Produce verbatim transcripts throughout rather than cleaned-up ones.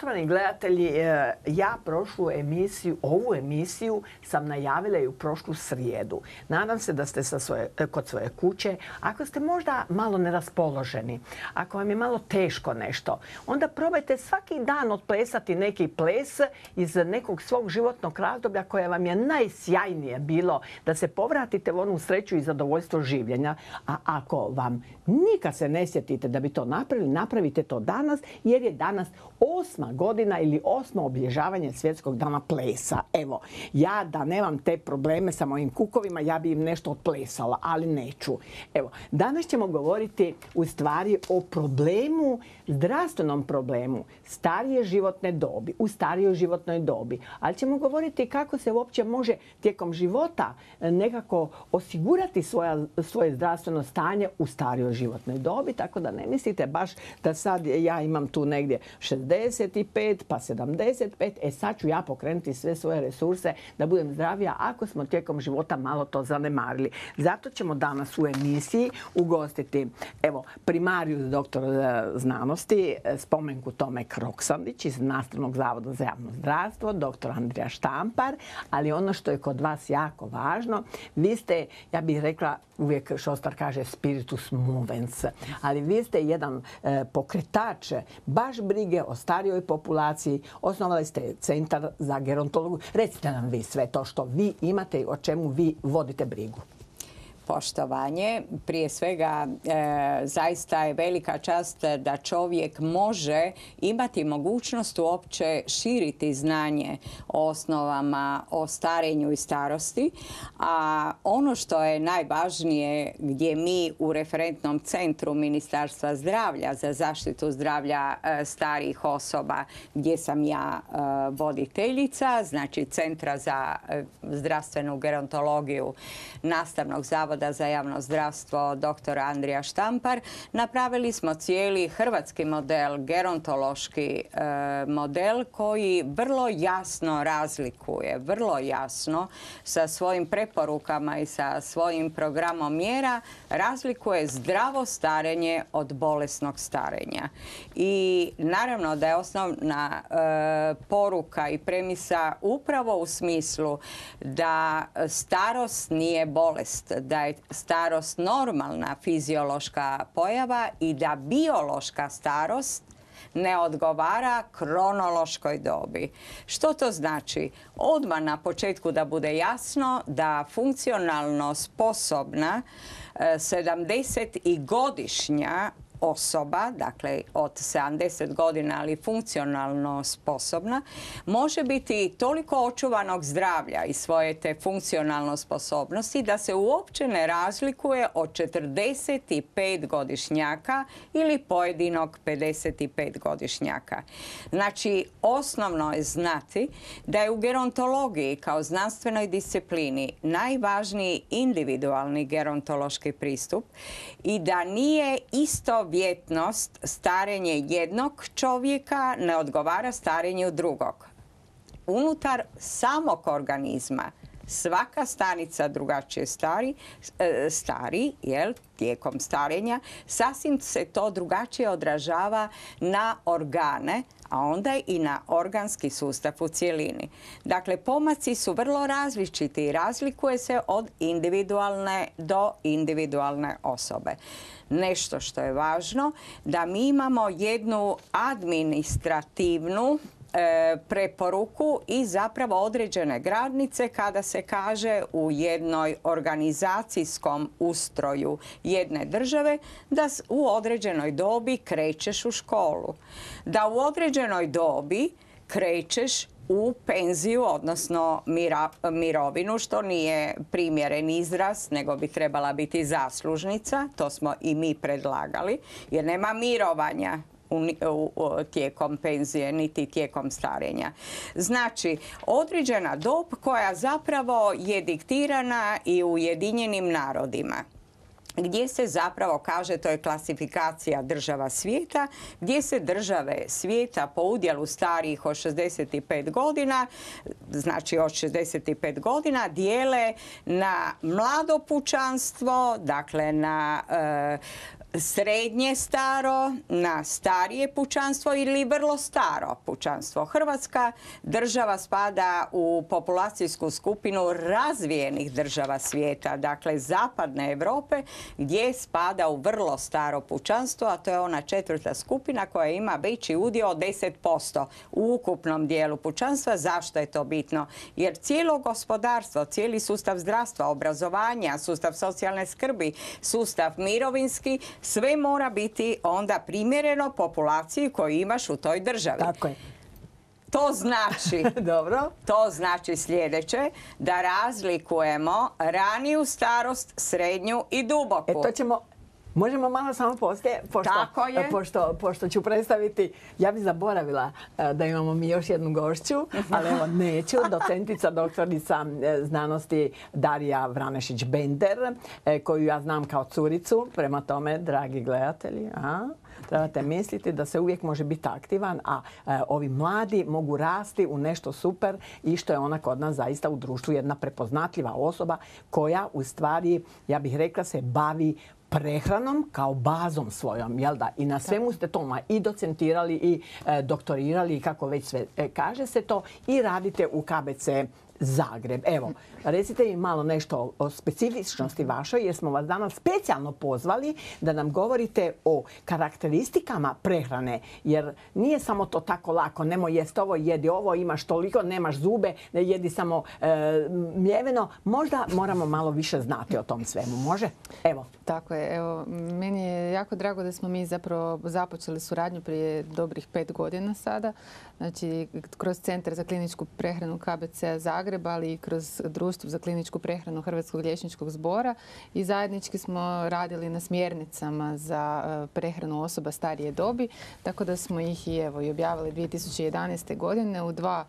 Poštovani gledatelji, ja prošlu emisiju, ovu emisiju sam najavila i u prošlu srijedu. Nadam se da ste sa svoje, kod svoje kuće. Ako ste možda malo neraspoloženi, ako vam je malo teško nešto, onda probajte svaki dan otplesati neki ples iz nekog svog životnog razdoblja koje vam je najsjajnije bilo, da se povratite u onu sreću i zadovoljstvo življenja. A ako vam nikad se ne sjetite da bi to napravili, napravite to danas, jer je danas osma godina ili osmo obilježavanje Svjetskog dana plesa. Evo, ja da nemam te probleme sa mojim kukovima, ja bi im nešto otplesala, ali neću. Evo, danas ćemo govoriti u stvari o problemu, zdravstvenom problemu starije životne dobi, u starijoj životnoj dobi. Ali ćemo govoriti kako se uopće može tijekom života nekako osigurati svoja, svoje zdravstveno stanje u starijoj životnoj dobi, tako da ne mislite baš da sad ja imam tu negdje šezdeset pet pa sedamdeset pet, e sad ću ja pokrenuti sve svoje resurse da budem zdravija ako smo tijekom života malo to zanemarili. Zato ćemo danas u emisiji ugostiti evo, primarijus doktor znanosti, spomenku Tome Kroksandić iz Nastavnog zavoda za javno zdravstvo, doktor Andrija Štampar, ali ono što je kod vas jako važno, vi ste, ja bih rekla, uvijek Šostar kaže spiritus movens, ali vi ste jedan e, pokretač baš brige o starijoj populaciji. Osnovali ste Centar za gerontologiju. Recite nam vi sve to što vi imate i o čemu vi vodite brigu. Poštovanje. Prije svega, e, zaista je velika čast da čovjek može imati mogućnost uopće širiti znanje o osnovama o starenju i starosti. A ono što je najvažnije, gdje mi u referentnom centru Ministarstva zdravlja za zaštitu zdravlja e, starijih osoba, gdje sam ja e, voditeljica, znači Centra za e, zdravstvenu gerontologiju Nastavnog zavoda za javno zdravstvo doktor Andrija Štampar, napravili smo cijeli hrvatski model, gerontološki e, model koji vrlo jasno razlikuje, vrlo jasno sa svojim preporukama i sa svojim programom mjera razlikuje zdravo starenje od bolesnog starenja. I naravno da je osnovna e, poruka i premisa upravo u smislu da starost nije bolest, da je starost normalna fiziološka pojava i da biološka starost ne odgovara kronološkoj dobi. Što to znači? Odmah na početku da bude jasno da funkcionalno sposobna sedamdesetgodišnja osoba, dakle od sedamdeset godina, ali funkcionalno sposobna, može biti toliko očuvanog zdravlja i svoje te funkcionalno sposobnosti da se uopće ne razlikuje od četrdeset pet godišnjaka ili pojedinog pedeset pet godišnjaka. Znači, osnovno je znati da je u gerontologiji kao znanstvenoj disciplini najvažniji individualni gerontološki pristup i da nije isto vjetnost starenje jednog čovjeka ne odgovara starenju drugog. Unutar samog organizma svaka stanica drugačije stari, stari jel, tijekom starenja, sasvim se to drugačije odražava na organe, a onda i na organski sustav u cjelini. Dakle, pomaci su vrlo različiti i razlikuje se od individualne do individualne osobe. Nešto što je važno, da mi imamo jednu administrativnu e, preporuku i zapravo određene granice kada se kaže u jednoj organizacijskom ustroju jedne države da u određenoj dobi krećeš u školu. Da u određenoj dobi krećeš u penziju, odnosno mira, mirovinu, što nije primjeren izraz, nego bi trebala biti zaslužnica. To smo i mi predlagali, jer nema mirovanja u, u, u, tijekom penzije, niti tijekom starenja. Znači, određena dob koja zapravo je diktirana i u Ujedinjenim narodima, gdje se zapravo kaže, to je klasifikacija država svijeta, gdje se države svijeta po udjelu starijih od šezdeset pet godina, znači od šezdeset pet godina, dijele na mlado pučanstvo, dakle na e, srednje staro, na starije pučanstvo ili vrlo staro pučanstvo. Hrvatska država spada u populacijsku skupinu razvijenih država svijeta, dakle zapadne Europe, gdje spada u vrlo staro pučanstvo, a to je ona četvrta skupina koja ima veći udio od deset posto u ukupnom dijelu pučanstva. Zašto je to bitno? Jer cijelo gospodarstvo, cijeli sustav zdravstva, obrazovanja, sustav socijalne skrbi, sustav mirovinski, sve mora biti onda primjereno populaciji koju imaš u toj državi. Tako je. To znači, Dobro. to znači sljedeće, da razlikujemo raniju starost, srednju i duboku. E to ćemo... Možemo malo samo poslije, pošto, Tako je. pošto, pošto ću predstaviti, ja bih zaboravila e, da imamo mi još jednu gošću, ali evo neću, docentica, doktorica e, znanosti Darija Vranešić-Bender, e, koju ja znam kao curicu, prema tome, dragi gledatelji, a, trebate misliti da se uvijek može biti aktivan, a e, ovi mladi mogu rasti u nešto super i što je ona kod nas zaista u društvu jedna prepoznatljiva osoba koja u stvari, ja bih rekla, se bavi prehranom kao bazom svojom, jel da? I na svemu ste to i docentirali i e, doktorirali i kako već sve e, kaže se to i radite u K B C Zagreb. Evo, recite mi malo nešto o specifičnosti vašoj, jer smo vas danas specijalno pozvali da nam govorite o karakteristikama prehrane, jer nije samo to tako lako, nemoj jest ovo, jedi ovo, imaš toliko, nemaš zube, ne jedi samo e, mljeveno. Možda moramo malo više znati o tom svemu. Može? Evo. Tako je. Evo, meni je jako drago da smo mi zapravo započeli suradnju prije dobrih pet godina sada. Znači, kroz Centar za kliničku prehranu K B C Zagreb, ali i kroz Društvo za kliničku prehranu Hrvatskog liječničkog zbora i zajednički smo radili na smjernicama za prehranu osoba starije dobi, tako da smo ih i, evo, i objavili dvije tisuće jedanaeste. godine u dva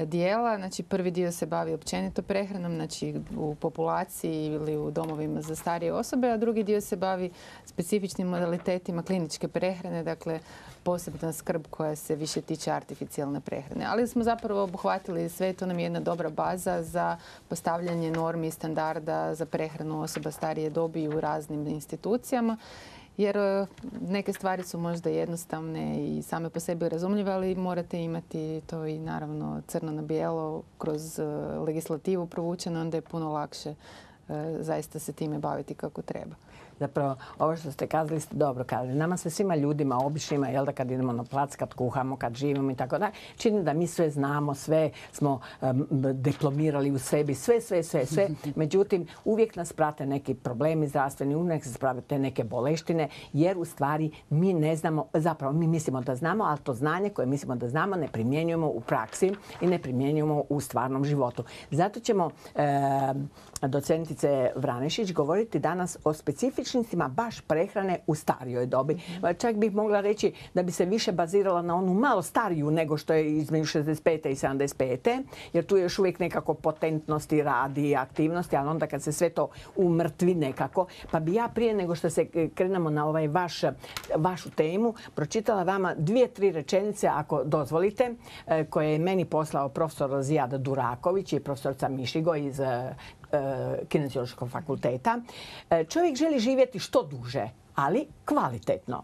dijela. Znači, prvi dio se bavi općenito prehranom, znači u populaciji ili u domovima za starije osobe, a drugi dio se bavi specifičnim modalitetima kliničke prehrane, dakle posebna skrb koja se više tiče artificijalne prehrane. Ali smo zapravo obuhvatili sve, to nam je jedna dobra baza za postavljanje normi i standarda za prehranu osoba starije dobi u raznim institucijama. Jer neke stvari su možda jednostavne i same po sebi razumljive, ali morate imati to i naravno crno na bijelo kroz legislativu provučeno, onda je puno lakše zaista se time baviti kako treba. Zapravo, ovo što ste kazali ste dobro kazali. Nama se svima ljudima, običnima, jel da kad idemo na plac, kad kuhamo, kad živimo i tako da, čini da mi sve znamo, sve smo um, diplomirali u sebi, sve, sve, sve, sve. Međutim, uvijek nas prate neki problemi zdravstveni, uvijek nas prate neke boleštine, jer u stvari mi ne znamo, zapravo mi mislimo da znamo, ali to znanje koje mislimo da znamo ne primjenjujemo u praksi i ne primjenjujemo u stvarnom životu. Zato ćemo e, docentice Vranešić govoriti danas o specifičnim baš prehrane u starijoj dobi. Mm-hmm. Čak bih mogla reći da bi se više bazirala na onu malo stariju nego što je između šezdeset pete i sedamdeset pete jer tu je još uvijek nekako potentnosti, radi i aktivnosti, ali onda kad se sve to umrtvi nekako, pa bi ja prije nego što se krenemo na ovaj vaš, vašu temu, pročitala vama dvije, tri rečenice, ako dozvolite, koje je meni poslao profesor Zijad Duraković i profesorica Mišigo iz Kineziološkog fakulteta. Čovjek želi živjeti što duže, ali kvalitetno.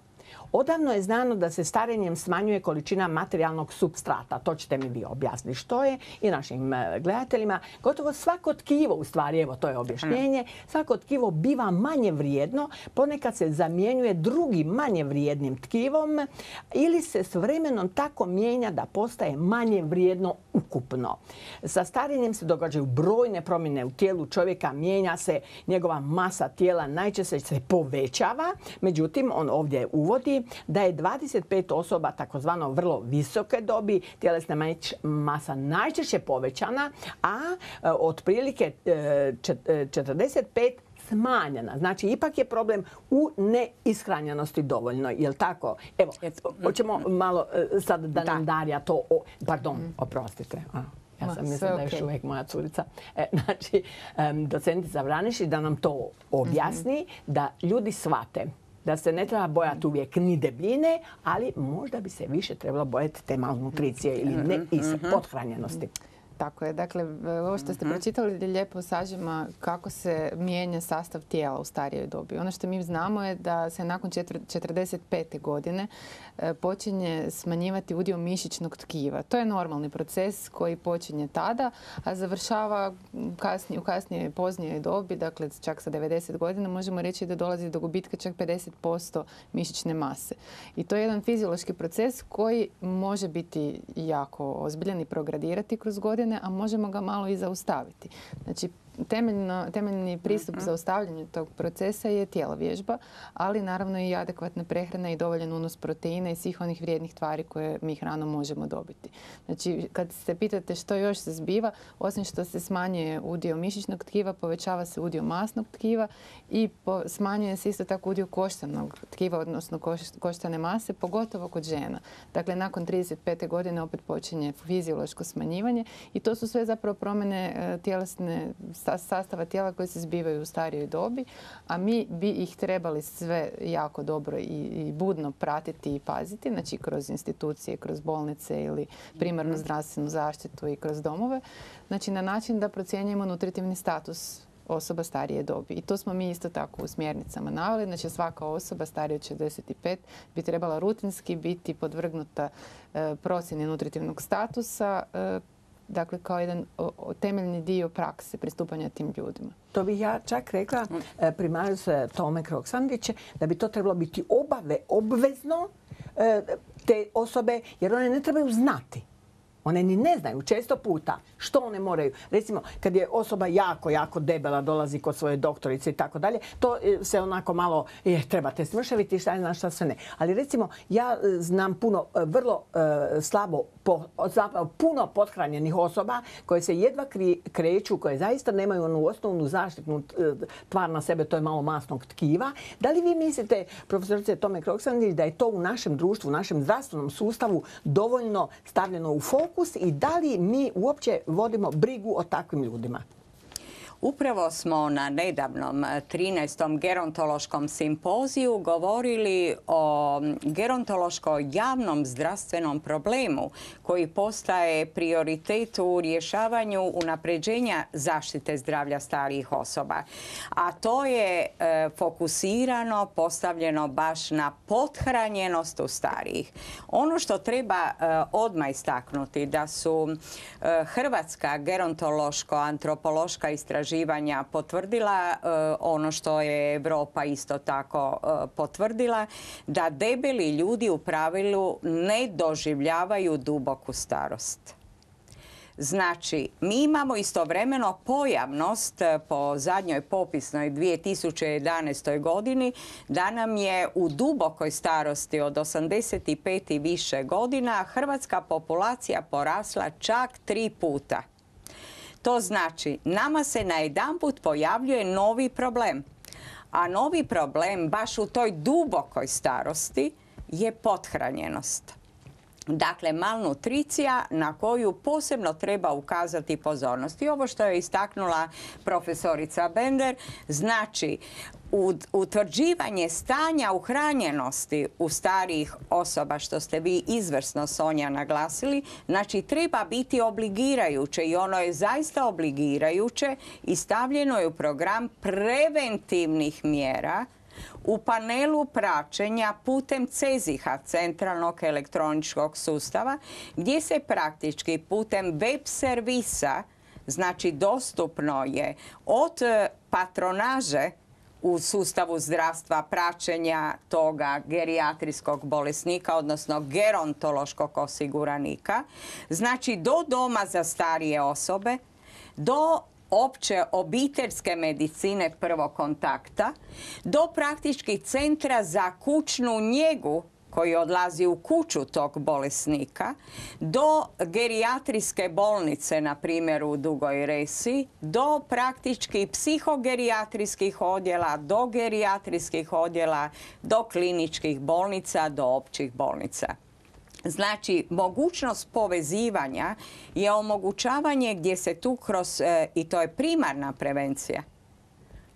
Odavno je znano da se starenjem smanjuje količina materijalnog supstrata. To ćete mi vi objasniti što je i našim gledateljima. Gotovo svako tkivo, u stvari, evo to je objašnjenje, svako tkivo biva manje vrijedno, ponekad se zamjenjuje drugim manje vrijednim tkivom ili se s vremenom tako mijenja da postaje manje vrijedno ukupno. Sa starenjem se događaju brojne promjene u tijelu čovjeka, mijenja se njegova masa tijela, najčešće se povećava, međutim on ovdje uvodi da je dvadeset pet osoba takozvano vrlo visoke dobi, tjelesna masa najčešće povećana, a e, otprilike e, četrdeset pet smanjena. Znači, ipak je problem u neishranjenosti dovoljno. Je li tako? Evo, hoćemo malo e, sad da nam Darija to... O, pardon, oprostite. A. Ja sam mislila da je još uvijek moja curica. E, znači, um, docentica Vranešić da nam to objasni, mm-hmm. da ljudi shvate da se ne treba bojati uvijek ni debljine, ali možda bi se više trebalo bojati te malnutricije ili ne iz pothranjenosti. Tako je. Dakle, ovo što ste pročitali lijepo sažima kako se mijenja sastav tijela u starijoj dobi. Ono što mi znamo je da se nakon četrdeset pete godine počinje smanjivati udio mišićnog tkiva. To je normalni proces koji počinje tada, a završava kasnije, u kasnije poznijoj dobi, dakle čak sa devedeset godina, možemo reći da dolazi do gubitka čak pedeset posto mišićne mase. I to je jedan fiziološki proces koji može biti jako ozbiljan i progradirati kroz godine, a možemo ga malo i zaustaviti. Znači, Temeljno, temeljni pristup za zaustavljanju tog procesa je tjelovježba, ali naravno i adekvatna prehrana i dovoljan unos proteina i svih onih vrijednih tvari koje mi hranom možemo dobiti. Znači, kad se pitate što još se zbiva, osim što se smanjuje udio mišićnog tkiva, povećava se udio masnog tkiva i po, smanjuje se isto tako udio koštanog tkiva, odnosno koš, koštane mase, pogotovo kod žena. Dakle, nakon trideset pete godine opet počinje fiziološko smanjivanje i to su sve zapravo promjene e, tjelesne sastava tijela koji se zbivaju u starijoj dobi, a mi bi ih trebali sve jako dobro i, i budno pratiti i paziti, znači kroz institucije, kroz bolnice ili primarnu zdravstvenu zaštitu i kroz domove, znači na način da procjenjujemo nutritivni status osoba starije dobi. I to smo mi isto tako u smjernicama naveli. Znači svaka osoba starija od šezdeset pet bi trebala rutinski biti podvrgnuta e, procjeni nutritivnog statusa, e, dakle kao jedan o, o, temeljni dio prakse pristupanja tim ljudima. To bi ja čak rekla, e, primarius Tome Kroksandić, da bi to trebalo biti obave, obvezno e, te osobe, jer one ne trebaju znati. One ni ne znaju često puta što one moraju. Recimo, kad je osoba jako, jako debela, dolazi kod svoje doktorice i tako dalje, to se onako malo, je, trebate smršaviti, šta je znaš, šta sve ne. Ali recimo, ja znam puno, vrlo e, slabo, po, zapravo puno pothranjenih osoba koje se jedva kri, kreću, koje zaista nemaju onu osnovnu zaštitnu tvar na sebe, to je malo masnog tkiva. Da li vi mislite, profesorice Tome Kroksandić, da je to u našem društvu, u našem zdravstvenom sustavu dovoljno stavljeno u fokus i da li mi uopće vodimo brigu o takvim ljudima? Upravo smo na nedavnom trinaestom gerontološkom simpoziju govorili o gerontološko-javnom zdravstvenom problemu koji postaje prioritet u rješavanju unapređenja zaštite zdravlja starijih osoba. A to je e, fokusirano, postavljeno baš na pothranjenost u starijih. Ono što treba e, odmah istaknuti da su e, hrvatska gerontološko-antropološka istraživanja potvrdila ono što je Europa isto tako potvrdila, da debeli ljudi u pravilu ne doživljavaju duboku starost. Znači, mi imamo istovremeno pojavnost po zadnjoj popisnoj dvije tisuće jedanaestoj godini da nam je u dubokoj starosti od osamdeset pet i više godina hrvatska populacija porasla čak tri puta. To znači, nama se najedanput pojavljuje novi problem. A novi problem baš u toj dubokoj starosti je pothranjenost. Dakle, malnutricija na koju posebno treba ukazati pozornost. I ovo što je istaknula profesorica Bender, znači utvrđivanje stanja uhranjenosti u starijih osoba, što ste vi izvrsno, Sonja, naglasili, znači treba biti obligirajuće i ono je zaista obligirajuće i stavljeno je u program preventivnih mjera u panelu praćenja putem CEZIH-a, centralnog elektroničkog sustava, gdje se praktički putem web servisa, znači dostupno je od patronaže u sustavu zdravstva praćenja toga gerijatrijskog bolesnika, odnosno gerontološkog osiguranika, znači do doma za starije osobe, do opće obiteljske medicine prvog kontakta, do praktički centra za kućnu njegu koji odlazi u kuću tog bolesnika, do gerijatrijske bolnice, na primjer u Dugoj Resi, do praktički psihogerijatrijskih odjela, do gerijatrijskih odjela, do kliničkih bolnica, do općih bolnica. Znači, mogućnost povezivanja je omogućavanje gdje se tu kroz, e, i to je primarna prevencija.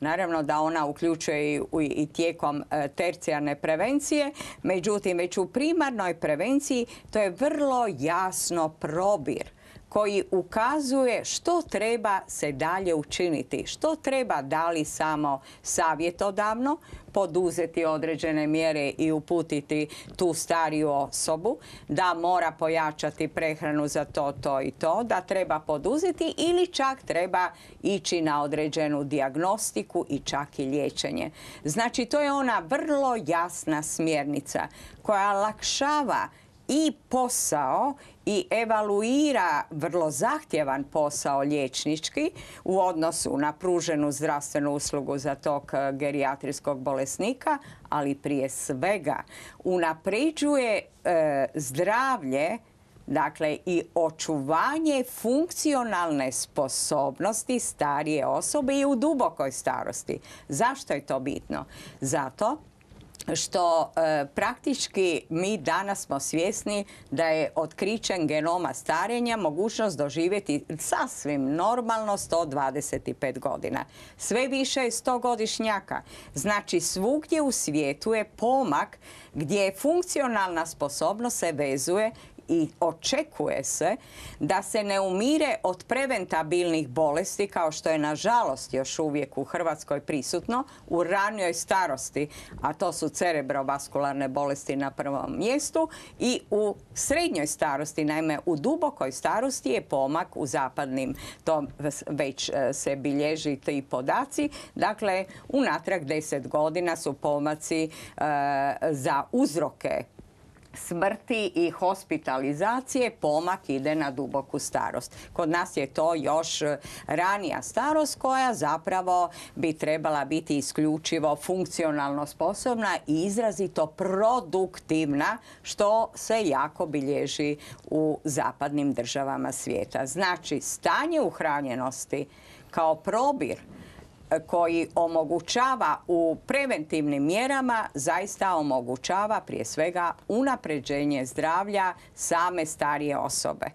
Naravno da ona uključuje i, i tijekom e, tercijarne prevencije, međutim već u primarnoj prevenciji to je vrlo jasno probir. koji ukazuje što treba se dalje učiniti, što treba da li samo savjetodavno poduzeti određene mjere i uputiti tu stariju osobu, da mora pojačati prehranu za to, to i to, da treba poduzeti ili čak treba ići na određenu dijagnostiku i čak i liječenje. Znači, to je ona vrlo jasna smjernica koja olakšava i posao i evaluira vrlo zahtjevan posao liječnički u odnosu na pruženu zdravstvenu uslugu za tog gerijatrijskog bolesnika, ali prije svega unapređuje e, zdravlje, dakle i očuvanje funkcionalne sposobnosti starije osobe i u dubokoj starosti. Zašto je to bitno? Zato što e, praktički mi danas smo svjesni da je otkrićem genoma starenja mogućnost doživjeti sasvim normalno sto dvadeset pet godina. Sve više je stogodišnjaka. Znači, svugdje u svijetu je pomak gdje funkcionalna sposobnost se vezuje i očekuje se da se ne umire od preventabilnih bolesti, kao što je nažalost još uvijek u Hrvatskoj prisutno, u ranijoj starosti, a to su cerebrovaskularne bolesti na prvom mjestu, i u srednjoj starosti, naime u dubokoj starosti je pomak u zapadnim, to već se bilježi ti podaci, dakle unatrag deset godina su pomaci e, za uzroke smrti i hospitalizacije, pomak ide na duboku starost. Kod nas je to još ranija starost koja zapravo bi trebala biti isključivo funkcionalno sposobna i izrazito produktivna, što se jako bilježi u zapadnim državama svijeta. Znači, stanje uhranjenosti kao probir koji omogućava u preventivnim mjerama, zaista omogućava prije svega unapređenje zdravlja same starije osobe.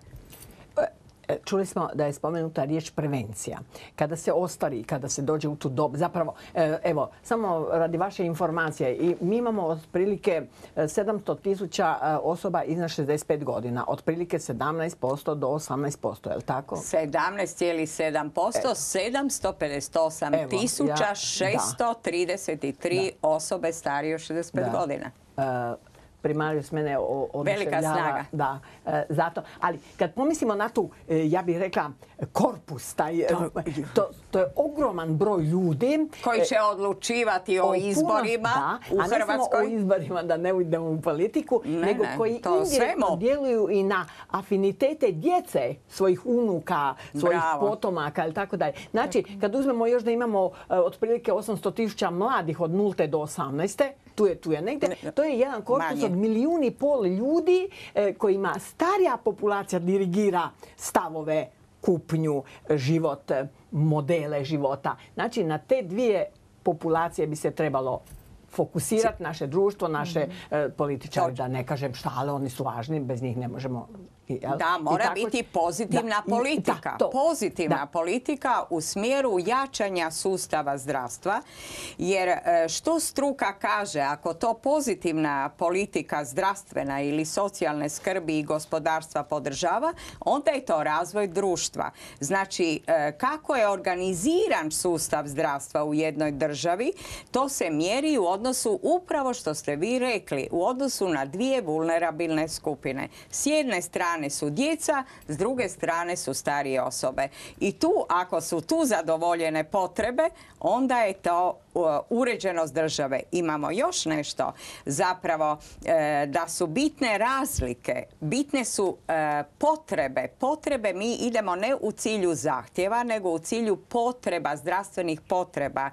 Čuli smo da je spomenuta riječ prevencija. Kada se ostari, kada se dođe u tu dobu, zapravo, evo, samo radi vaše informacije, i mi imamo otprilike sedamsto tisuća osoba iznad šezdeset pet godina, otprilike sedamnaest posto do osamnaest posto, je li tako? sedamnaest zarez sedam posto, sedamsto pedeset osam tisuća šesto trideset tri osobe starije od šezdeset pet godina. Primarijus mene velika snaga. Da, e, zato. Ali kad pomislimo na tu, e, ja bih rekla, korpus, taj, to, to, to je ogroman broj ljudi koji će odlučivati o, o izborima puno, da, u Hrvatskoj. A ne samo o izborima, da ne ujdemo u politiku, ne, nego ne, koji indirektno djeluju i na afinitete djece, svojih unuka, svojih Bravo. potomaka ili tako dalje. Znači, kad uzmemo još da imamo uh, otprilike osamsto tisuća mladih od nulte do osamnaeste, tu je, tu je negdje, to je jedan korpus Manje. od milijun i pol ljudi eh, kojima starija populacija dirigira stavove, kupnju, život, modele života. Znači, na te dvije populacije bi se trebalo fokusirati naše društvo, naše mm-hmm. političari, da ne kažem šta, ali oni su važni, bez njih ne možemo... Jel? Da, mora tako, biti pozitivna da, politika. Da, pozitivna da. politika u smjeru jačanja sustava zdravstva, jer što struka kaže, ako to pozitivna politika zdravstvena ili socijalne skrbi i gospodarstva podržava, onda je to razvoj društva. Znači, kako je organiziran sustav zdravstva u jednoj državi, to se mjeri u odnosu, upravo što ste vi rekli, u odnosu na dvije vulnerabilne skupine. S jedne strane su djeca, s druge strane su starije osobe. I tu, ako su tu zadovoljene potrebe, onda je to uređenost države. Imamo još nešto, zapravo da su bitne razlike, bitne su potrebe. Potrebe mi idemo ne u cilju zahtjeva, nego u cilju potreba, zdravstvenih potreba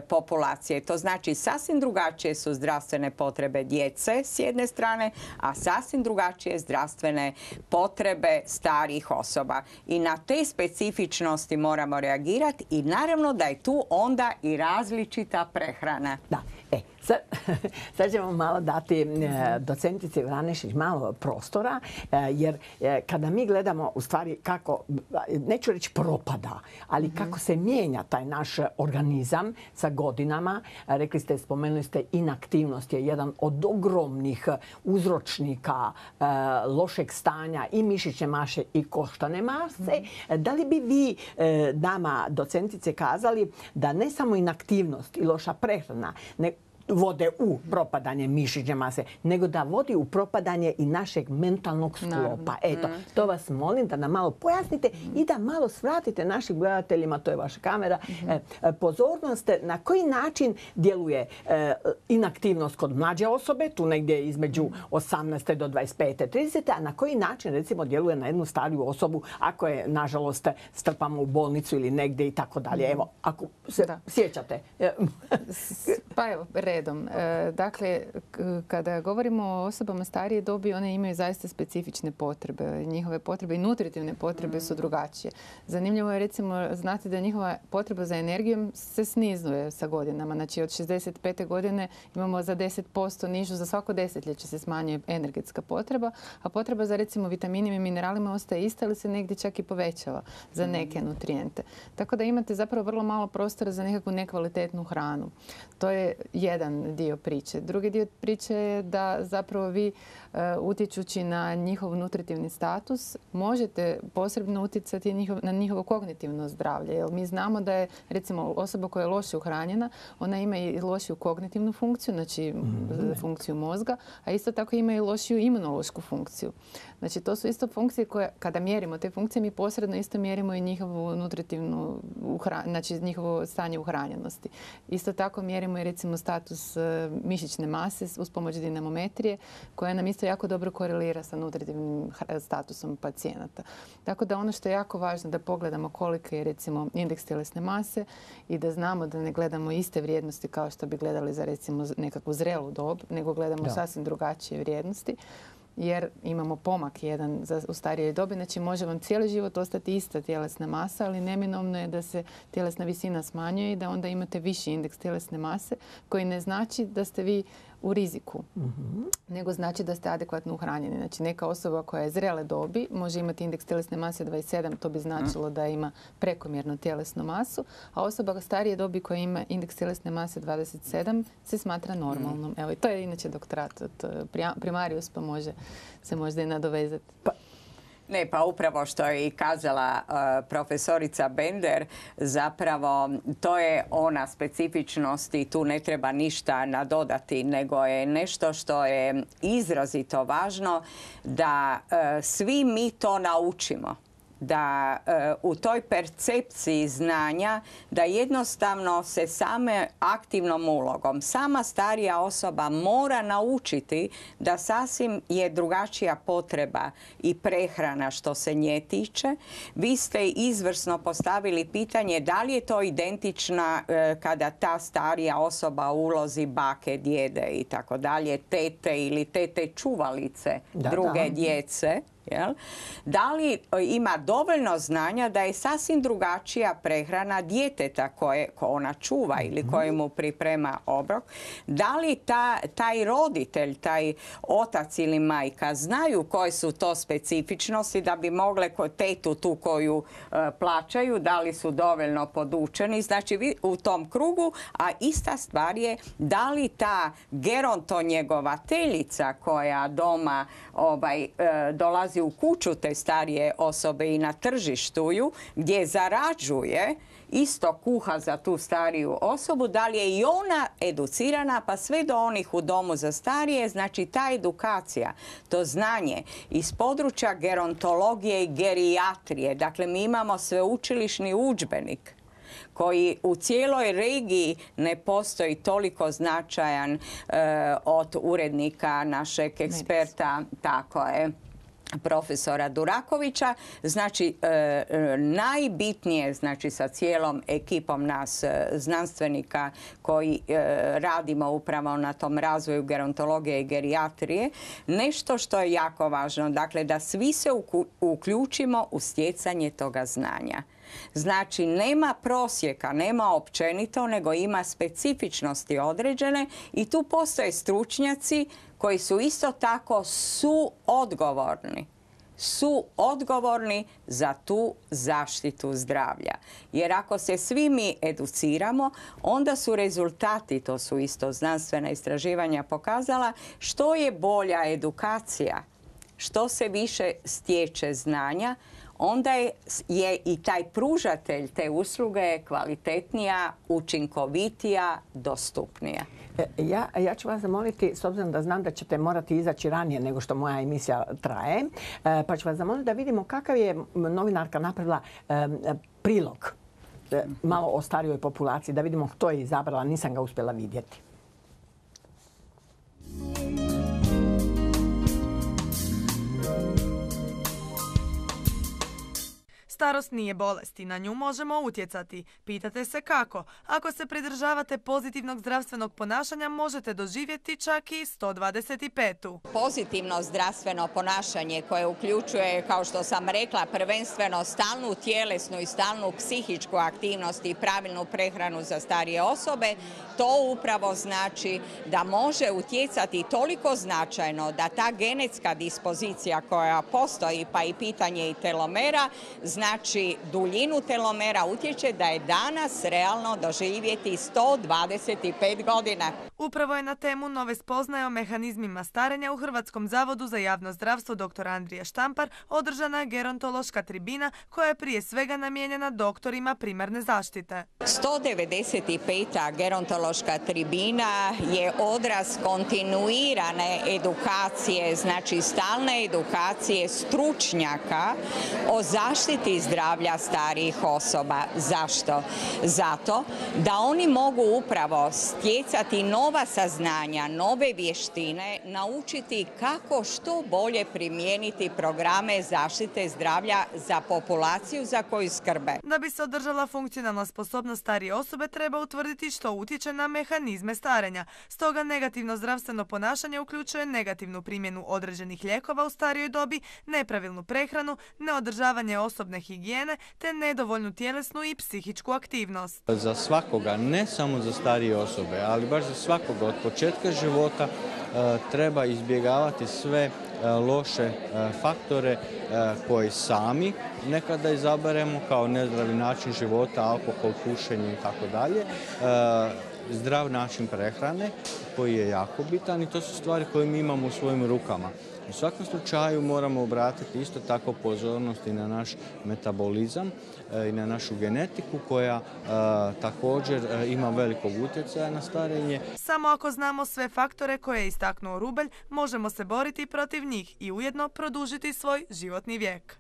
populacije. To znači sasvim drugačije su zdravstvene potrebe djece s jedne strane, a sasvim drugačije zdravstvene potrebe starijih osoba. I na te specifičnosti moramo reagirati i naravno da je tu onda i različita prehrana. Da. E, Sad, sad ćemo malo dati docentici Vranešić malo prostora, jer kada mi gledamo u stvari kako, neću reći propada, ali kako se mijenja taj naš organizam sa godinama. Rekli ste, spomenuli ste, inaktivnost je jedan od ogromnih uzročnika lošeg stanja i mišićne mase i koštane mase. Da li bi vi nama, docentice, kazali da ne samo inaktivnost i loša prehrana ne vode u propadanje mišićne mase, nego da vodi u propadanje i našeg mentalnog sklopa. Eto, to vas molim da nam malo pojasnite i da malo svratite našim gledateljima, to je vaša kamera, pozornost na koji način djeluje inaktivnost kod mlađe osobe, tu negdje između osamnaeste do dvadeset pete, tridesete, a na koji način recimo djeluje na jednu stariju osobu ako je, nažalost, strpamo u bolnicu ili negdje i tako dalje. Evo, ako se sjećate. Pa evo, redom. Dakle, kada govorimo o osobama starije dobi, one imaju zaista specifične potrebe. Njihove potrebe i nutritivne potrebe su drugačije. Zanimljivo je recimo znati da njihova potreba za energijom se snizuje sa godinama. Znači od šezdeset pete godine imamo za deset posto nižu, za svako desetljeće se smanjuje energetska potreba, a potreba za recimo vitaminima i mineralima ostaje ista ili se negdje čak i povećava za neke nutrijente. Tako da imate zapravo vrlo malo prostora za nekakvu nekvalitetnu hranu. To je jedan dio priče. Drugi dio priče je da zapravo vi utječući na njihov nutritivni status možete posebno utjecati na njihovo kognitivno zdravlje. Jer mi znamo da je recimo osoba koja je loše uhranjena, ona ima i lošiju kognitivnu funkciju, znači funkciju mozga, a isto tako ima i lošiju imunološku funkciju. Znači to su isto funkcije koje, kada mjerimo te funkcije, mi posredno isto mjerimo i njihovu nutritivnu, znači njihovo stanje uhranjenosti. Isto tako mjerimo i recimo status mišićne mase uz pomoć dinamometrije, koja nam isto jako dobro korelira sa nutritivnim statusom pacijenata. Tako da ono što je jako važno da pogledamo koliki je recimo indeks tjelesne mase i da znamo da ne gledamo iste vrijednosti kao što bi gledali za recimo nekakvu zrelu dob, nego gledamo da. sasvim drugačije vrijednosti. Jer imamo pomak jedan za, u starijoj dobi. Znači može vam cijeli život ostati ista tjelesna masa, ali neminovno je da se tjelesna visina smanjuje i da onda imate viši indeks tjelesne mase, koji ne znači da ste vi u riziku, mm-hmm. nego znači da ste adekvatno uhranjeni. Znači neka osoba koja je zrele dobi može imati indeks tjelesne mase dvadeset sedam, to bi značilo da ima prekomjernu tjelesnu masu, a osoba starije dobi koja ima indeks tjelesne mase dvadeset sedam se smatra normalnom. Evo, i to je inače doktorat od primarius, pa može se možda i nadovezati. Pa. Ne, pa upravo što je i kazala uh, profesorica Bender, zapravo to je ona specifičnost i tu ne treba ništa nadodati, nego je nešto što je izrazito važno da uh, svi mi to naučimo. Da uh, u toj percepciji znanja da jednostavno se same aktivnom ulogom sama starija osoba mora naučiti da sasvim je drugačija potreba i prehrana što se nje tiče. Vi ste izvrsno postavili pitanje da li je to identična uh, kada ta starija osoba u ulozi bake, djede i tako dalje, tete ili tete čuvalice da, druge da. djece. Jel? Da li ima dovoljno znanja da je sasvim drugačija prehrana djeteta koje ko ona čuva ili koje mu priprema obrok? Da li ta, taj roditelj, taj otac ili majka znaju koje su to specifičnosti da bi mogle tetu tu koju uh, plaćaju, da li su dovoljno podučeni? Znači vi u tom krugu, a ista stvar je da li ta gerontonjegovateljica koja doma ovaj, uh, dolazi u kuću te starije osobe i na tržištu ju, gdje zarađuje, isto kuha za tu stariju osobu, da li je i ona educirana, pa sve do onih u domu za starije, znači ta edukacija, to znanje iz područja gerontologije i gerijatrije. Dakle, mi imamo sveučilišni udžbenik koji u cijeloj regiji ne postoji toliko značajan e, od urednika našeg eksperta, tako je, profesora Durakovića. Znači, e, najbitnije, znači sa cijelom ekipom nas e, znanstvenika koji e, radimo upravo na tom razvoju gerontologije i gerijatrije, nešto što je jako važno, dakle da svi se uključimo u stjecanje toga znanja. Znači, nema prosjeka, nema općenito, nego ima specifičnosti određene i tu postoje stručnjaci koji su isto tako suodgovorni. su odgovorni za tu zaštitu zdravlja. Jer ako se svi mi educiramo, onda su rezultati, to su isto znanstvena istraživanja pokazala, što je bolja edukacija, što se više stječe znanja, onda je, je i taj pružatelj te usluge kvalitetnija, učinkovitija, dostupnija. Ja, ja ću vas zamoliti, s obzirom da znam da ćete morati izaći ranije nego što moja emisija traje, pa ću vas zamoliti da vidimo kakav je novinarka napravila prilog malo o starijoj populaciji, da vidimo što je izabrala, nisam ga uspjela vidjeti. Starost nije bolest i na nju možemo utjecati. Pitate se kako? Ako se pridržavate pozitivnog zdravstvenog ponašanja, možete doživjeti čak i sto dvadeset petu. Pozitivno zdravstveno ponašanje koje uključuje, kao što sam rekla, prvenstveno stalnu tjelesnu i stalnu psihičku aktivnost i pravilnu prehranu za starije osobe, to upravo znači da može utjecati toliko značajno da ta genetska dispozicija koja postoji, pa i pitanje i telomera, znači duljinu telomera, utječe da je danas realno doživjeti sto dvadeset pet godina. Upravo je na temu nove spoznaje o mehanizmima starenja u Hrvatskom zavodu za javno zdravstvo dr. Andrija Štampar održana gerontološka tribina koja je prije svega namijenjena doktorima primarne zaštite. sto devedeset peta gerontološka tribina je odraz kontinuirane edukacije, znači stalne edukacije stručnjaka o zaštiti zdravlja starijih osoba. Zašto? Zato da oni mogu upravo stjecati nova saznanja, nove vještine, naučiti kako što bolje primijeniti programe zaštite zdravlja za populaciju za koju skrbe. Da bi se održala funkcionalna sposobnost starije osobe, treba utvrditi što utječe na mehanizme starenja. Stoga negativno zdravstveno ponašanje uključuje negativnu primjenu određenih lijekova u starijoj dobi, nepravilnu prehranu, neodržavanje osobne higijene te nedovoljnu tjelesnu i psihičku aktivnost. Za svakoga, ne samo za starije osobe, ali baš za svakoga od početka života treba izbjegavati sve loše faktore koje sami nekada izaberemo kao nezdravi način života, alkohol, pušenje i tako dalje. Zdrav način prehrane koji je jako bitan i to su stvari koje mi imamo u svojim rukama. U svakom slučaju moramo obratiti isto tako pozornost i na naš metabolizam i na našu genetiku koja a, također a, ima velikog utjecaja na starenje. Samo ako znamo sve faktore koje je istaknuo Rubelj, možemo se boriti protiv njih i ujedno produžiti svoj životni vijek.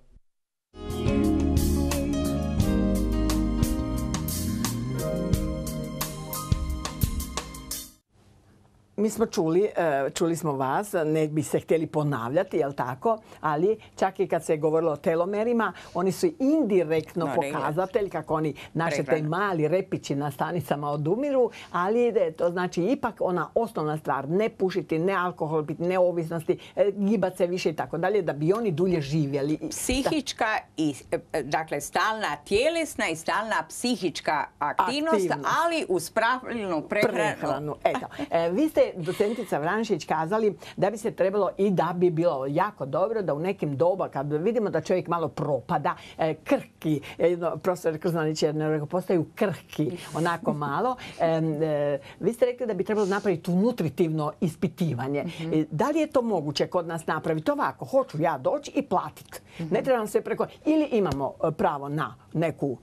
Mi smo čuli, čuli smo vas, ne bi se htjeli ponavljati, jel tako? Ali čak i kad se je govorilo o telomerima, oni su indirektno no, pokazatelj kako oni, naše te mali repići na stanicama odumiru, ali to znači ipak ona osnovna stvar, ne pušiti, ne alkohol, biti neovisnosti, gibat se više i tako dalje, da bi oni dulje živjeli. Psihička i, dakle, stalna tjelesna i stalna psihička aktivnost, aktivnost. ali uz pravilnu prehranu. prehranu. Eto, e, vi ste docentica Vranšić kazali da bi se trebalo i da bi bilo jako dobro da u nekim doba kad vidimo da čovjek malo propada, eh, krhki, eh, profesor Krznanić je rekao, postaju krhki, onako malo. Eh, eh, vi ste rekli da bi trebalo napraviti nutritivno ispitivanje. Mm-hmm. eh, da li je to moguće kod nas napraviti ovako? Hoću ja doći i platiti. Mm-hmm. Ne trebam se preko... Ili imamo pravo na neku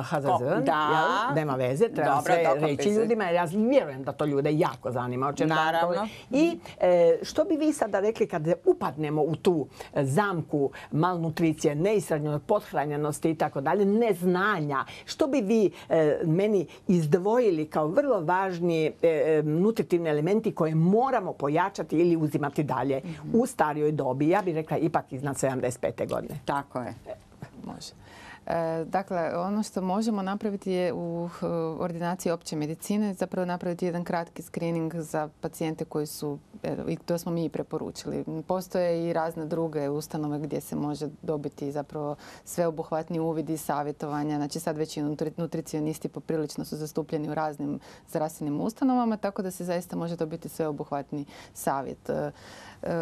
H Z Z, da, nema veze, treba dobro, sve reći ljudima, jer ja vjerujem da to ljude jako zanima. Naravno. I e, što bi vi sada rekli kad upadnemo u tu zamku malnutricije, neishrane, pothranjenosti i tako dalje, neznanja, što bi vi e, meni izdvojili kao vrlo važni e, nutritivni elementi koje moramo pojačati ili uzimati dalje mm-hmm. u starijoj dobi? Ja bih rekla ipak iznad sedamdeset pete godine. Tako je. Može. Dakle, ono što možemo napraviti je u ordinaciji opće medicine zapravo napraviti jedan kratki screening za pacijente koji su, i to smo mi i preporučili. Postoje i razne druge ustanove gdje se može dobiti zapravo sveobuhvatni uvid i savjetovanja. Znači sad već i nutricionisti poprilično su zastupljeni u raznim zdravstvenim ustanovama, tako da se zaista može dobiti sveobuhvatni savjet.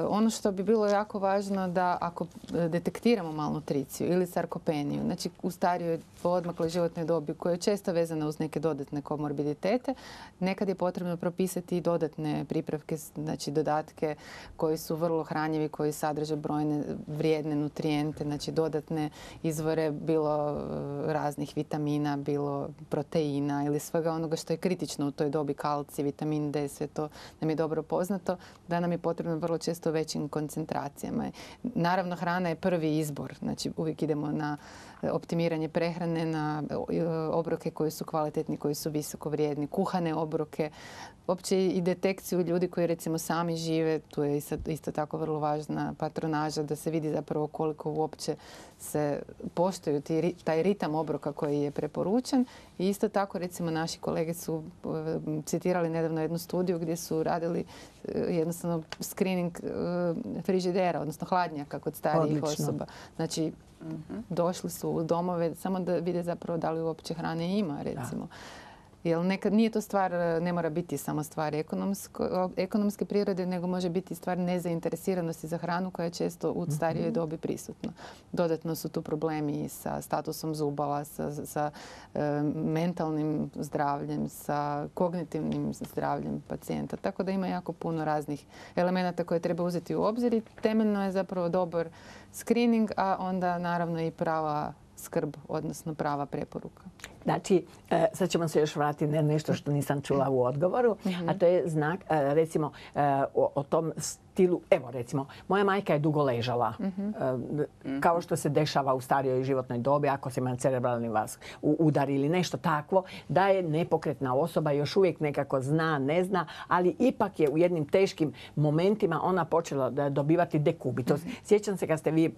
Ono što bi bilo jako važno da ako detektiramo malnutriciju ili sarkopeniju, znači u starijoj odmakloj životnoj dobi koja je često vezana uz neke dodatne komorbiditete, nekad je potrebno propisati i dodatne pripravke, znači dodatke koji su vrlo hranjivi, koji sadrže brojne vrijedne nutrijente, znači dodatne izvore bilo raznih vitamina, bilo proteina ili svega onoga što je kritično u toj dobi, kalcij, vitamin D, sve to nam je dobro poznato, da nam je potrebno vrlo često većim koncentracijama. Naravno, hrana je prvi izbor. Znači, uvijek idemo na optimiranje prehrane, na obroke koji su kvalitetni, koji su visoko vrijedni, kuhane obroke, uopće i detekciju ljudi koji recimo sami žive. Tu je isto tako vrlo važna patronaža da se vidi zapravo koliko uopće se poštuju taj ritam obroka koji je preporučen. I isto tako recimo naši kolege su citirali nedavno jednu studiju gdje su radili jednostavno screening frižidera, odnosno hladnjaka kod starijih osoba. Znači, došli su u domove samo da vide zapravo da li uopće hrane ima, recimo. Jer nekad nije to stvar, ne mora biti samo stvar ekonomske prirode, nego može biti stvar nezainteresiranosti za hranu koja je često u starijoj dobi prisutna. Dodatno su tu problemi sa statusom zubala, sa, sa e, mentalnim zdravljem, sa kognitivnim zdravljem pacijenta. Tako da ima jako puno raznih elemenata koje treba uzeti u obzir i temeljno je zapravo dobar screening, a onda naravno i prava skrb, odnosno prava preporuka. Znači, sad ćemo se još vratiti na nešto što nisam čula u odgovoru, a to je znak, recimo, o, o tom stilu. Evo, recimo, moja majka je dugo ležala, kao što se dešava u starijoj životnoj dobi, ako se ima cerebralni vas udar ili nešto takvo, da je nepokretna osoba, još uvijek nekako zna, ne zna, ali ipak je u jednim teškim momentima ona počela dobivati dekubitus. Sjećam se kad ste vi,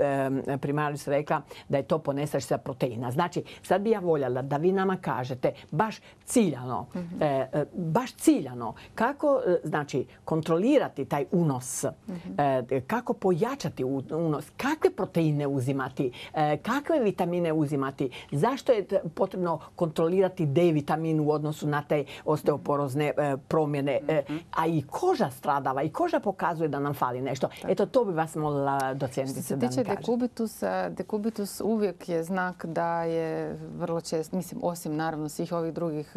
primarius, rekla da je to ponestašica proteina. Znači, sad bi ja voljela da vi nama kažete baš ciljano, mm-hmm. e, baš ciljano kako znači kontrolirati taj unos, mm-hmm. e, kako pojačati unos, kakve proteine uzimati, e, kakve vitamine uzimati, zašto je potrebno kontrolirati D vitamin u odnosu na te osteoporozne e, promjene, e, a i koža stradava i koža pokazuje da nam fali nešto. Tako. Eto, to bi vas molila docentice da mi kažete. Što se tiče dekubitusa, dekubitus uvijek je znak da je vrlo često, mislim, osim naravno svih ovih drugih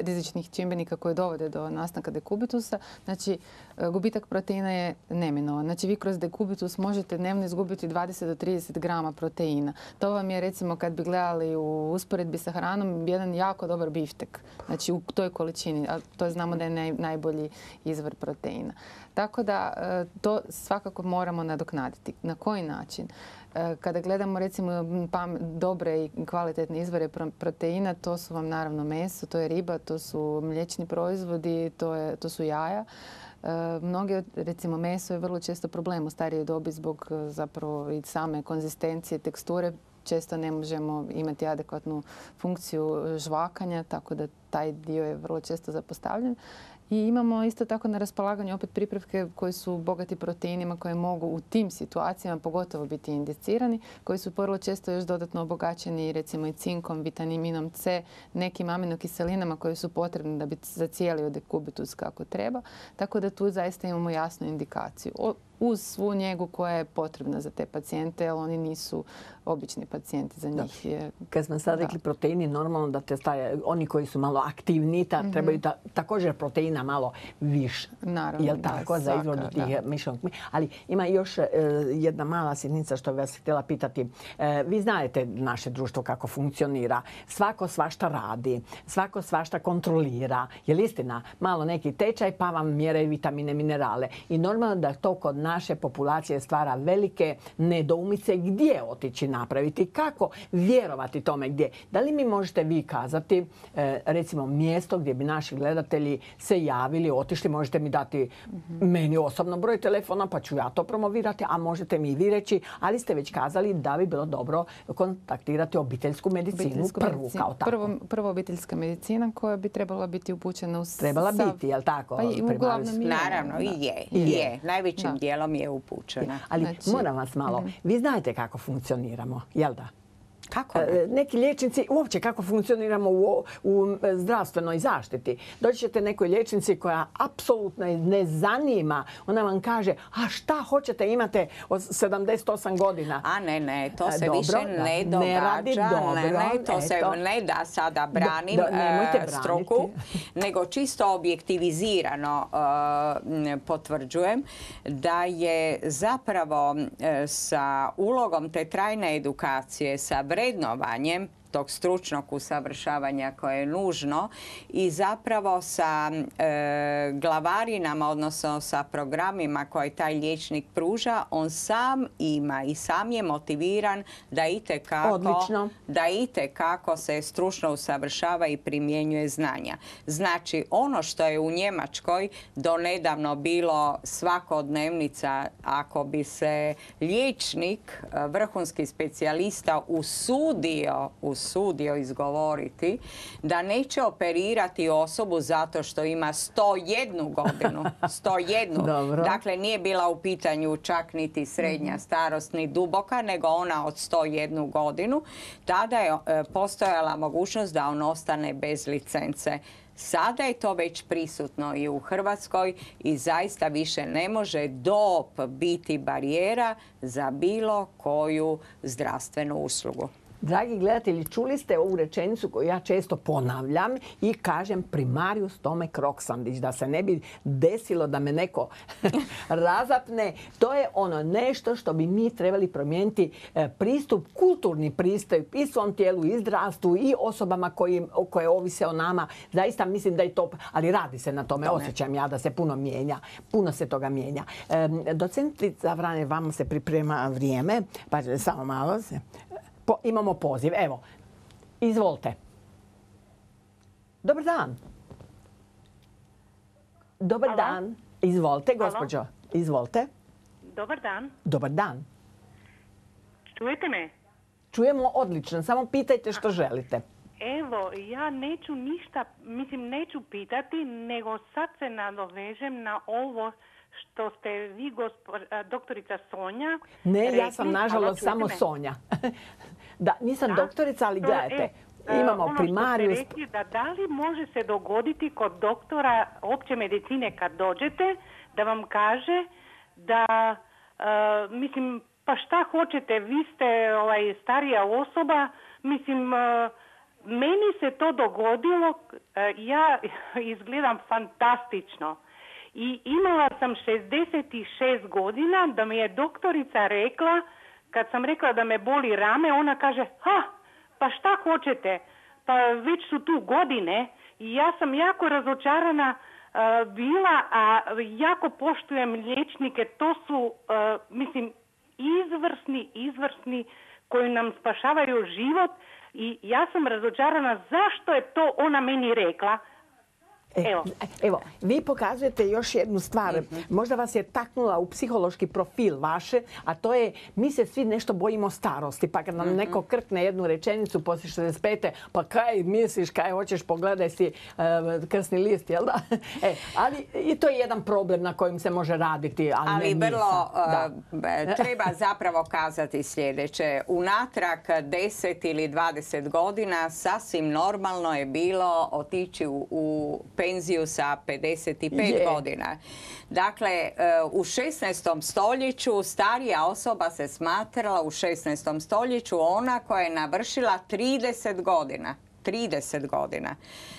rizičnih čimbenika koji dovode do nastanka dekubitusa, znači gubitak proteina je neminovan. Znači vi kroz dekubitus možete dnevno izgubiti dvadeset do trideset grama proteina. To vam je recimo kad bi gledali u usporedbi sa hranom jedan jako dobar biftek. Znači u toj količini, a to znamo da je naj, najbolji izvor proteina. Tako da to svakako moramo nadoknaditi. Na koji način? Kada gledamo recimo dobre i kvalitetne izvore proteina, to su vam naravno meso, to je riba, to su mliječni proizvodi, to, je, to su jaja. Mnoge, recimo meso je vrlo često problem u starijoj dobi zbog zapravo i same konzistencije, teksture. Često ne možemo imati adekvatnu funkciju žvakanja, tako da taj dio je vrlo često zapostavljen. I imamo isto tako na raspolaganju opet pripravke koji su bogati proteinima koje mogu u tim situacijama pogotovo biti indicirani, koji su vrlo često još dodatno obogaćeni recimo i cinkom, vitaminom C, nekim aminokiselinama koje su potrebne da bi zacijelio dekubitus kako treba. Tako da tu zaista imamo jasnu indikaciju. Uz svu njegu koja je potrebna za te pacijente, jer oni nisu obični pacijenti za njih. Je... Kad smo sad rekli proteini, normalno da te staje, oni koji su malo aktivni, ta, mm-hmm. trebaju ta, također proteina malo više. Naravno, jel tako, da, za izvodu tih mišnog. Ali ima još e, jedna mala sitnica što bih vas htjela pitati. E, vi znate naše društvo kako funkcionira. Svako svašta radi, svako svašta kontrolira. Je li istina? Malo neki tečaj pa vam mjere vitamine, minerale. I normalno da to kod naše populacije stvara velike nedoumice gdje otići napraviti, kako vjerovati tome gdje. Da li mi možete vi kazati, recimo, mjesto gdje bi naši gledatelji se javili, otišli, možete mi dati meni osobno broj telefona pa ću ja to promovirati, a možete mi i vi reći, ali ste već kazali da bi bilo dobro kontaktirati obiteljsku medicinu Obiteljsku prvu medicinu. kao tako. Prvo, prvo obiteljska medicina koja bi trebala biti upućena u Trebala sav... biti, jel tako? Pa i uglavnom je. Naravno, i je. I je. je. Najvećim Da. dijelom je upućena. Ali Znači, moram vas malo, vi znate kako funkcioniramo, jel da? Kako ne? E, Neki liječnici, uopće kako funkcioniramo u, u zdravstvenoj zaštiti. Doći ćete nekoj liječnici koja apsolutno ne zanima. Ona vam kaže, a šta hoćete, imate od sedamdeset osam godina. A ne, ne, to se Dobro, više da. ne Ne događa. radi dobro, ne, ne, to se eto. ne da sada branim Da, da, nemojte e, braniti. struku, nego čisto objektivizirano e, potvrđujem da je zapravo e, sa ulogom te trajne edukacije, sa vrednovanjem tog stručnog usavršavanja koje je nužno i zapravo sa e, glavarinama, odnosno sa programima koje taj liječnik pruža, on sam ima i sam je motiviran da itekako, Odlično. da itekako se stručno usavršava i primjenjuje znanja. Znači, ono što je u Njemačkoj donedavno bilo svakodnevnica, ako bi se liječnik, vrhunski specijalista usudio usudio izgovoriti da neće operirati osobu zato što ima sto jednu godinu. sto jednu. Dobro. Dakle, nije bila u pitanju čak niti srednja starost, ni duboka, nego ona od sto jednu godinu. Tada je e, postojala mogućnost da on ostane bez licence. Sada je to već prisutno i u Hrvatskoj i zaista više ne može dob biti barijera za bilo koju zdravstvenu uslugu. Dragi gledatelji, čuli ste ovu rečenicu koju ja često ponavljam i kažem primarius Tomek Roksandić, da se ne bi desilo da me neko razapne. To je ono nešto što bi mi trebali promijeniti, pristup, kulturni pristup i svom tijelu, i zdravstvu, i osobama koji, koje ovise o nama. Zaista mislim da je to, ali radi se na tome, tome. Osjećam ja da se puno mijenja, puno se toga mijenja. Docentica Vrane, vama se priprema vrijeme, pa samo malo se... Po, imamo poziv. Evo, izvolite. Dobar dan. Dobar Alo? dan. Izvolite, gospođo. Izvolite. Dobar dan. Dobar dan. Čujete me? Čujemo odlično. Samo pitajte što želite. Evo, ja neću ništa, mislim, neću pitati, nego sad se nadovežem na ovo što ste vi, gospo, doktorica Sonja... Ne, rekli. ja sam nažalost Alo, samo me? Sonja. Da, nisam Da? doktorica, ali To, gledajte. e, Imamo ono primarius... što ste rekli, da, da li može se dogoditi kod doktora opće medicine kad dođete, da vam kaže da, e, mislim, pa šta hoćete, vi ste ovaj, starija osoba, mislim... E, meni se to dogodilo, e, ja izgledam fantastično. I imala sam šezdeset šest godina, da mi je doktorica rekla, kad sam rekla da me boli rame, ona kaže, ha, pa šta hoćete, pa već su tu godine. I ja sam jako razočarana uh, bila, a jako poštujem liječnike, to su, uh, mislim, izvrsni, izvrsni koji nam spašavaju život. I ja sam razočarana zašto je to ona meni rekla. Evo. Evo, vi pokazujete još jednu stvar. Možda vas je taknula u psihološki profil vaše, a to je mi se svi nešto bojimo starosti. Pa kad nam neko krkne jednu rečenicu poslije šezdeset pete, pa kaj misliš, kaj hoćeš, pogledaj si uh, krsni list, jel da? E, ali i to je jedan problem na kojim se može raditi, ali, Ali ne vrlo nisam. uh, treba zapravo kazati sljedeće. Unatrag deset ili dvadeset godina sasvim normalno je bilo otići u, u penziju sa pedeset pet Je. godina. Dakle, u šesnaestom stoljeću starija osoba se smatrala u šesnaestom stoljeću ona koja je navršila trideset godina. trideset godina.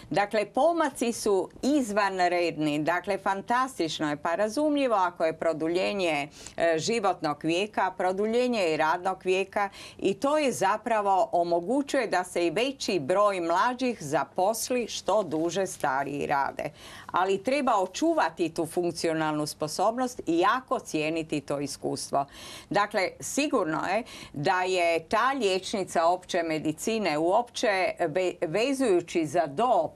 Dakle, pomaci su izvanredni. Dakle, fantastično je, pa razumljivo ako je produljenje e, životnog vijeka, produljenje i radnog vijeka i to je zapravo omogućuje da se i veći broj mlađih zaposli što duže stariji rade. Ali treba očuvati tu funkcionalnu sposobnost i jako cijeniti to iskustvo. Dakle, sigurno je da je ta liječnica opće medicine uopće vezujući za dob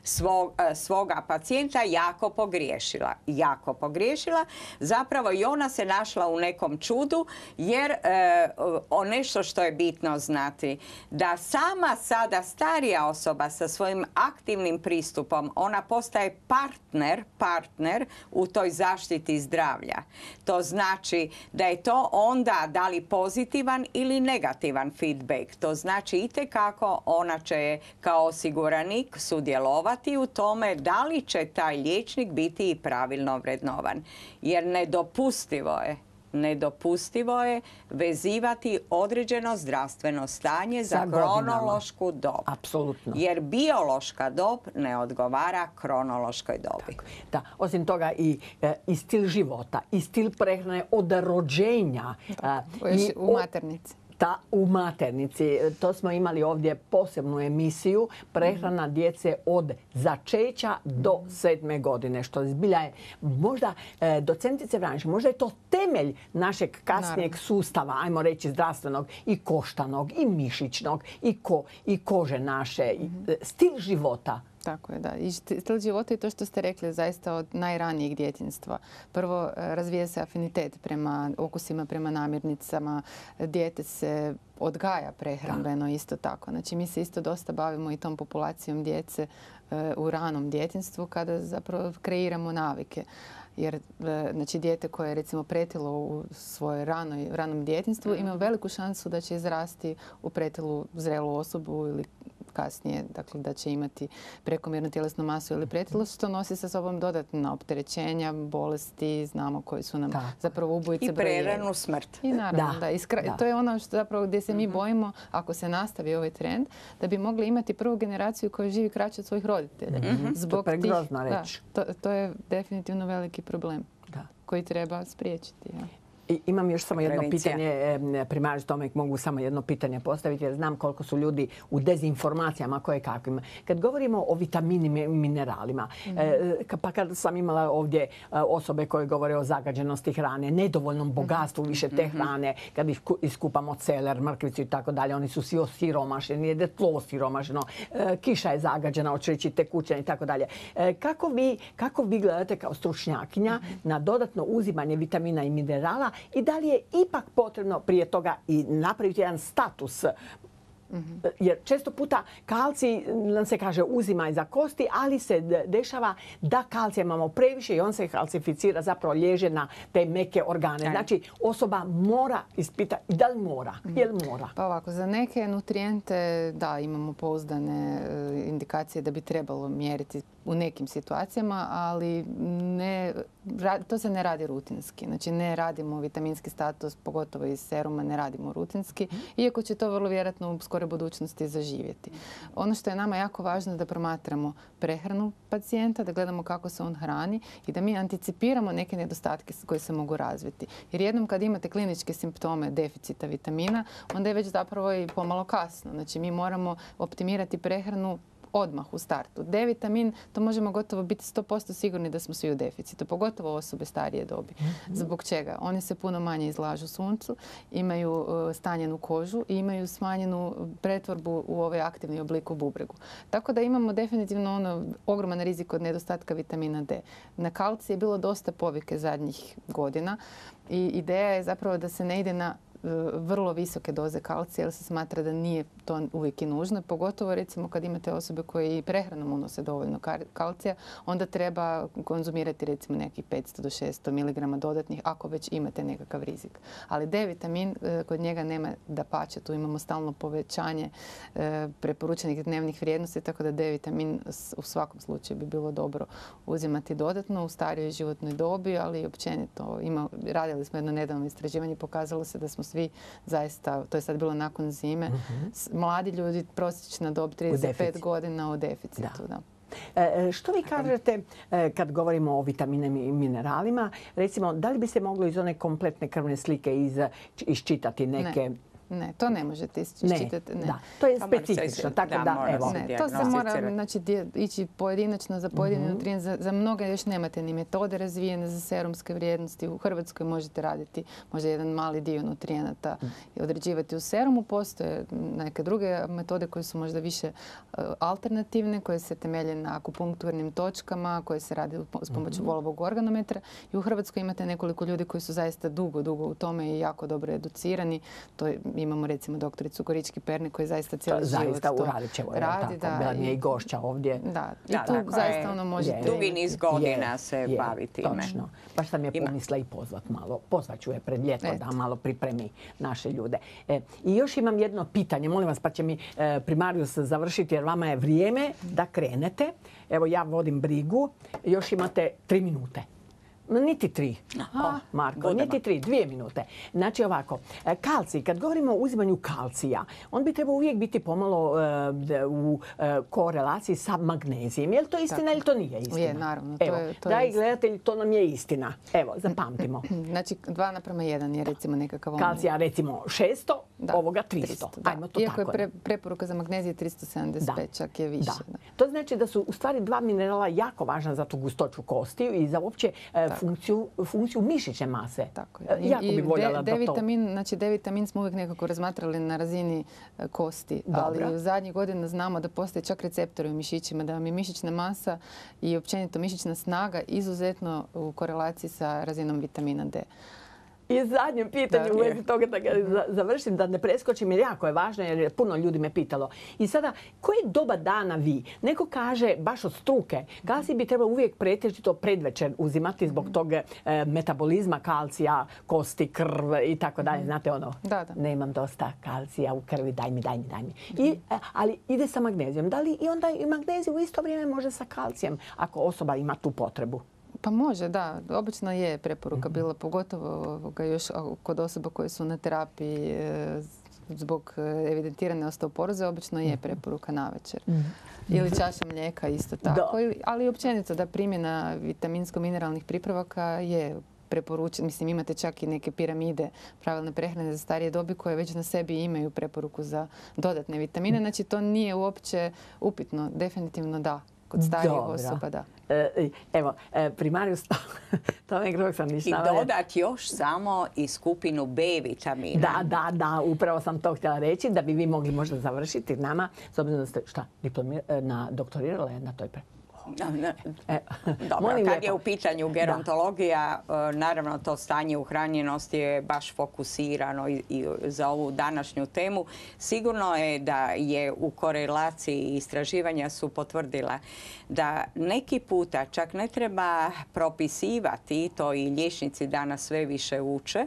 svog, svoga pacijenta jako pogriješila. Jako pogriješila. Zapravo i ona se našla u nekom čudu jer e, o nešto što je bitno znati da sama sada starija osoba sa svojim aktivnim pristupom ona postaje partner, partner u toj zaštiti zdravlja. To znači da je to onda da li pozitivan ili negativan feedback. To znači itekako ona će kao osiguranik sudjelovati u tome da li će taj liječnik biti i pravilno vrednovan. Jer nedopustivo je Nedopustivo je vezivati određeno zdravstveno stanje za, za kronološku dob. Apsolutno. Jer biološka dob ne odgovara kronološkoj dobi. Tako. Da, osim toga i, e, i stil života, i stil prehrane od rođenja. Da, i, u maternici. Ta, u maternici. To smo imali ovdje posebnu emisiju prehrana djece od začeća do sedme godine. Što zbilja je možda, e, docentice Vranješ, možda je to temelj našeg kasnijeg Naravno. sustava, ajmo reći zdravstvenog i koštanog i mišićnog i, ko, i kože naše. Mm-hmm. Stil života. Tako je, da. I stil života i to što ste rekli zaista od najranijeg djetinjstva. Prvo, razvija se afinitet prema okusima, prema namirnicama. Dijete se odgaja prehrambeno isto tako. Znači, mi se isto dosta bavimo i tom populacijom djece u ranom djetinjstvu kada zapravo kreiramo navike. Jer znači, dijete koje je recimo pretilo u svojoj ranoj, ranom djetinjstvu ima veliku šansu da će izrasti u pretilu zrelu osobu ili kasnije, dakle da će imati prekomjernu tjelesnu masu ili pretilo, što nosi sa sobom dodatna opterećenja, bolesti, znamo koji su nam da. zapravo ubojice brojeva. I preranu smrt. I naravno, da. da. Iskra... da. To je ono što zapravo gdje se mi bojimo, ako se nastavi ovaj trend, da bi mogli imati prvu generaciju koja živi kraće od svojih roditelja. Mm-hmm. Zbog to je pregrozna reč. Da, to, to je definitivno veliki problem da. koji treba spriječiti. Ja. I imam još samo jedno Prevencija. pitanje, primarius Tomek, mogu samo jedno pitanje postaviti jer znam koliko su ljudi u dezinformacijama koje kakvim. Kad govorimo o vitaminima i mineralima, mm. e, pa kad sam imala ovdje osobe koje govore o zagađenosti hrane, nedovoljnom bogatstvu više te hrane, kad iskupamo celer, mrkvicu i tako dalje, oni su svi osiromašeni, jede tlo osiromašeno, e, kiša je zagađena, hoće reći tekućina i tako dalje. E, kako vi, kako vi gledate kao stručnjakinja mm. na dodatno uzimanje vitamina i minerala i da li je ipak potrebno prije toga i napraviti jedan status? Mm-hmm. Jer često puta kalcij nam se kaže uzimaj za kosti, ali se dešava da kalcija imamo previše i on se kalcificira, zapravo liježe na te meke organe. Znači osoba mora ispitati, da li mora, mm-hmm. je li mora? Pa ovako, za neke nutrijente da imamo pouzdane indikacije da bi trebalo mjeriti u nekim situacijama, ali ne, to se ne radi rutinski. Znači ne radimo vitaminski status, pogotovo iz seruma, ne radimo rutinski, iako će to vrlo vjerojatno u skoroj budućnosti zaživjeti. Ono što je nama jako važno je da promatramo prehranu pacijenta, da gledamo kako se on hrani i da mi anticipiramo neke nedostatke koje se mogu razviti. Jer jednom kad imate kliničke simptome deficita vitamina, onda je već zapravo i pomalo kasno. Znači mi moramo optimirati prehranu odmah u startu. D vitamin, to možemo gotovo biti sto posto sigurni da smo svi u deficitu, pogotovo osobe starije dobi. Zbog čega? Oni se puno manje izlažu suncu, imaju stanjenu kožu i imaju smanjenu pretvorbu u ovaj aktivni oblik u bubregu. Tako da imamo definitivno ono ogroman rizik od nedostatka vitamina D. Na kalcij je bilo dosta povike zadnjih godina i ideja je zapravo da se ne ide na vrlo visoke doze kalcija jer se smatra da nije to uvijek i nužno. Pogotovo recimo kad imate osobe koje i prehranom unose dovoljno kalcija, onda treba konzumirati recimo nekih petsto do šesto miligrama dodatnih ako već imate nekakav rizik. Ali D vitamin kod njega nema dapače, tu imamo stalno povećanje preporučenih dnevnih vrijednosti, tako da D vitamin u svakom slučaju bi bilo dobro uzimati dodatno u starijoj životnoj dobi, ali i općenito. Ima, radili smo jedno nedavno istraživanje, pokazalo se da smo svi zaista, to je sad bilo nakon zime, mladi ljudi, prosječna dob trideset pet godina u deficitu. Da. E, što vi kažete e, kad govorimo o vitaminima i mineralima? Recimo, da li bi se moglo iz one kompletne krvne slike iz, iščitati neke... Ne. Ne, to ne možete iščitati. Ne, da. To je specifično. Tako da, da evo. Ne, to se mora znači, ići pojedinačno za pojedini mm-hmm. nutrijen. Za, za mnoge još nemate ni metode razvijene za serumske vrijednosti. U Hrvatskoj možete raditi možda jedan mali dio nutrijenata i određivati u serumu. Postoje neke druge metode koje su možda više uh, alternativne, koje se temelje na akupunkturnim točkama, koje se radi s pomoću mm-hmm. volovog organometra. I u Hrvatskoj imate nekoliko ljudi koji su zaista dugo, dugo u tome i jako dobro educirani. To je, imamo recimo doktoricu Gorički-Pernik koji zaista cijeli život zaista u Radićevoj radi. Da, bila mi je i gošća ovdje. Da, i da, tu dakle, zaista ono možete... Dugi niz godina je, se je, bavi time. Točno. Baš sam je pomisla i pozvat malo. Pozvat ću je pred ljeto da malo pripremi naše ljude. E, I još imam jedno pitanje, molim vas, pa će mi e, primarius završiti jer vama je vrijeme da krenete. Evo ja vodim brigu, još imate tri minute. Niti tri, oh, Marko, Budemo. niti tri, dvije minute. Znači ovako, kalcij, kad govorimo o uzimanju kalcija, on bi trebao uvijek biti pomalo uh, u uh, korelaciji sa magnezijem. Je li to istina ili to nije istina? Je, naravno. Evo, to je, to dragi je gledatelji, to nam je istina. Evo, zapamtimo. Znači, dva naprema jedan je recimo nekakav... Kalcija recimo šesto, da, ovoga tristo. tristo Ajmo to Iako tako. je pre, preporuka za magnezije tristo sedamdeset pet, čak je više. Da. Da. To znači da su u stvari dva minerala jako važna za tu gustoću kostiju i za uopće uh, funkciju, funkciju mišićne mase. Tako je. Jako bi voljela da to... D-vitamin, znači D-vitamin smo uvijek nekako razmatrali na razini kosti, Dobra. ali u zadnjih godina znamo da postoje čak receptori u mišićima, da vam je mišićna masa i općenito mišićna snaga izuzetno u korelaciji sa razinom vitamina D. I zadnje pitanje u vezi toga da ga završim, da ne preskočim jer jako je važno jer puno ljudi me pitalo. I sada, koje doba dana vi? Neko kaže baš od struke, kalcij bi trebalo uvijek pretežito predvečer uzimati zbog tog e, metabolizma kalcija, kosti, krv i tako dalje. Znate ono, da, da. nemam dosta kalcija u krvi, daj mi, daj mi, daj mi. I, ali ide sa magnezijom. Da li i onda i magnezij u isto vrijeme može sa kalcijem ako osoba ima tu potrebu? Pa može, da. Obično je preporuka bila, pogotovo još kod osoba koje su na terapiji zbog evidentirane osteoporoze, obično je preporuka navečer. Ili čaša mlijeka isto tako. Da. Ali općenito da primjena vitaminsko-mineralnih pripravaka je preporučena. Mislim, imate čak i neke piramide pravilne prehrane za starije dobi koje već na sebi imaju preporuku za dodatne vitamine. Znači, to nije uopće upitno. Definitivno da. Kod starijih osoba, da. E, evo, primarius, to me grog sam ništa. I dodat još samo i skupinu B vitamina. Da, da, da, upravo sam to htjela reći, da bi vi mogli možda završiti nama, s obzirom da ste, šta, na doktorirala na toj pre... E, Dobro, kad lijepo. je u pitanju gerontologija, da. naravno to stanje uhranjenosti je baš fokusirano i, i za ovu današnju temu. Sigurno je da je u korelaciji istraživanja su potvrdila da neki puta čak ne treba propisivati, to i liječnici danas sve više uče,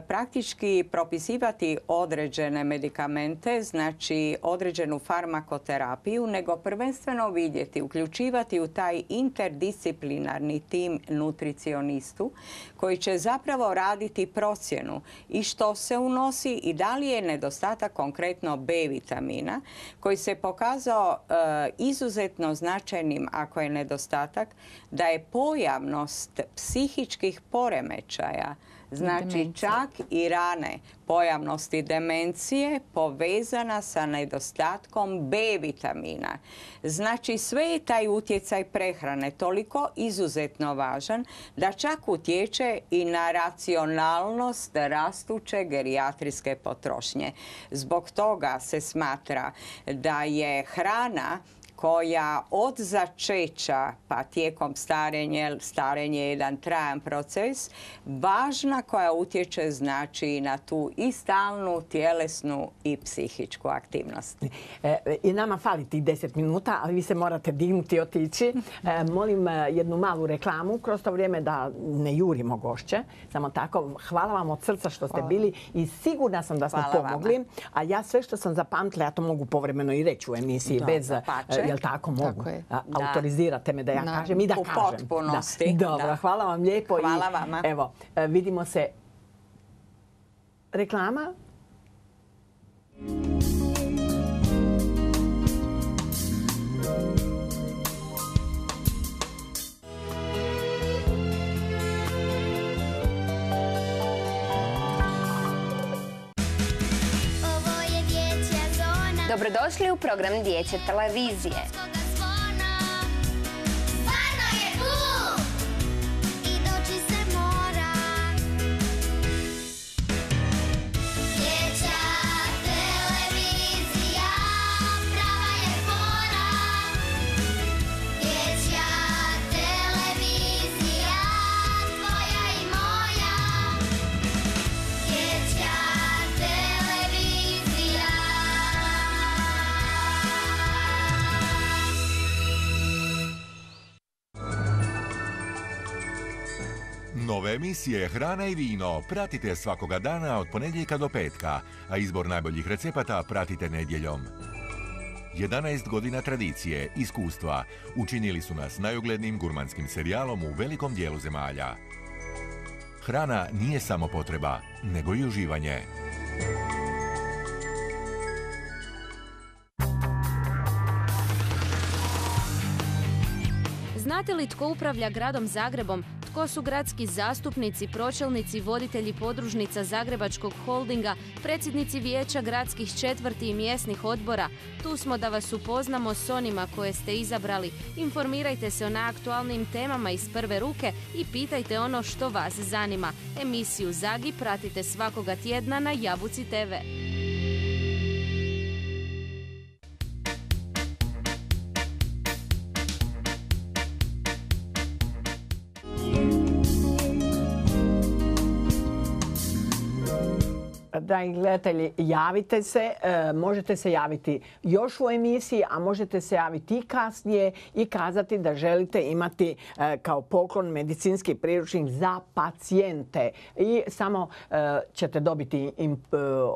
praktički propisivati određene medikamente, znači određenu farmakoterapiju, nego prvenstveno vidjeti, uključivati u taj interdisciplinarni tim nutricionistu koji će zapravo raditi procjenu i što se unosi i da li je nedostatak konkretno B vitamina koji se pokazao e, izuzetno značajnim ako je nedostatak, da je pojavnost psihičkih poremećaja, znači čak i rane pojavnosti demencije povezana sa nedostatkom B vitamina. Znači sve je taj utjecaj prehrane toliko izuzetno važan da čak utječe i na racionalnost rastuće gerijatrijske potrošnje. Zbog toga se smatra da je hrana koja od začeća pa tijekom starenja, starenje je jedan trajan proces, važna koja utječe znači na tu i stalnu tjelesnu i psihičku aktivnost. E, I nama fali tih deset minuta, ali vi se morate dignuti i otići. E, molim jednu malu reklamu kroz to vrijeme da ne jurimo gošće. Samo tako, hvala vam od srca što ste hvala. bili i sigurna sam da smo hvala pomogli. Vama. A ja sve što sam zapamtila, ja to mogu povremeno i reći u emisiji da, bez... Pače. Jel tako mogu? Tako je. A, autorizirate me da ja da. kažem i da u kažem. U potpunosti. Da. Dobro, da. hvala vam lijepo. Hvala i, vama. Evo, vidimo se reklama. Dobrodošli u program Dječje televizije. Nove emisije Hrana i vino pratite svakoga dana od ponedjeljka do petka, a izbor najboljih recepata pratite nedjeljom. jedanaest godina tradicije, iskustva učinili su nas najuglednijim gurmanskim serijalom u velikom dijelu zemalja. Hrana nije samo potreba, nego i uživanje. Znate li tko upravlja gradom Zagrebom? Tko su gradski zastupnici, pročelnici, voditelji podružnica Zagrebačkog holdinga, predsjednici vijeća gradskih četvrti i mjesnih odbora? Tu smo da vas upoznamo s onima koje ste izabrali. Informirajte se o najaktualnijim temama iz prve ruke i pitajte ono što vas zanima. Emisiju Zagi pratite svakoga tjedna na Jabuci te ve. Dragi gledatelji, javite se, e, možete se javiti još u emisiji, a možete se javiti i kasnije i kazati da želite imati e, kao poklon medicinski priručnik za pacijente. I samo e, ćete dobiti im, e,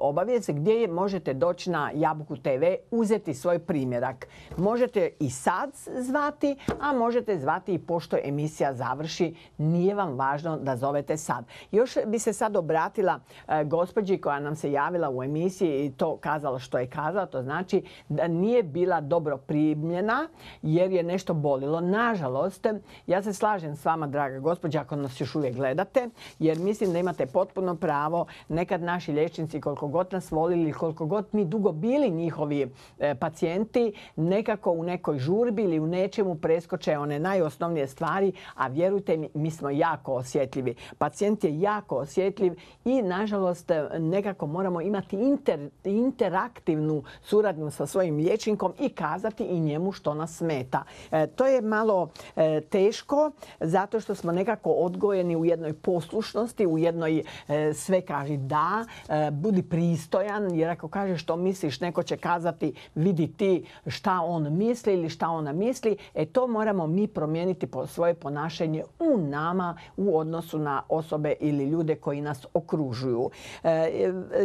obavijest gdje možete doći na Jabuku te ve, uzeti svoj primjerak. Možete i sad zvati, a možete zvati i pošto emisija završi. Nije vam važno da zovete sad. Još bi se sad obratila e, gospođi koja nam se javila u emisiji i to kazala što je kazala. To znači da nije bila dobro primljena jer je nešto bolilo. Nažalost, ja se slažem s vama, draga gospođa, ako nas još uvijek gledate, jer mislim da imate potpuno pravo. Nekad naši liječnici, koliko god nas volili, koliko god mi dugo bili njihovi e, pacijenti, nekako u nekoj žurbi ili u nečemu preskoče one najosnovnije stvari, a vjerujte mi, mi smo jako osjetljivi. Pacijent je jako osjetljiv i, nažalost, nekako moramo imati inter, interaktivnu suradnju sa svojim liječnikom i kazati i njemu što nas smeta. E, to je malo e, teško zato što smo nekako odgojeni u jednoj poslušnosti, u jednoj e, sve kaži da, e, budi pristojan, jer ako kažeš što misliš, neko će kazati vidi ti šta on misli ili šta ona misli. E to moramo mi promijeniti po svoje ponašanje u nama u odnosu na osobe ili ljude koji nas okružuju. E,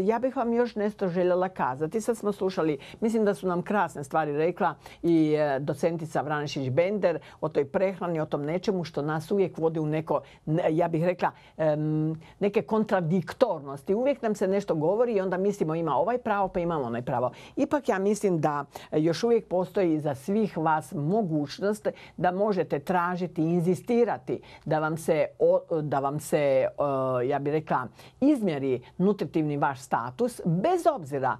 Ja bih vam još nešto željela kazati. Sad smo slušali, mislim da su nam krasne stvari rekla i docentica Vranešić-Bender o toj prehrani, o tom nečemu što nas uvijek vodi u neko, ja bih rekla, neke kontradiktornosti. Uvijek nam se nešto govori i onda mislimo ima ovaj pravo pa imamo onaj pravo. Ipak ja mislim da još uvijek postoji za svih vas mogućnost da možete tražiti, inzistirati da vam se, da vam se ja bih rekla, izmjeri nutritivni vaš status, bez obzira.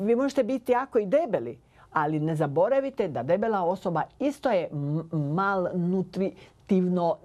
Vi možete biti jako i debeli, ali ne zaboravite da debela osoba isto je malnutritivno,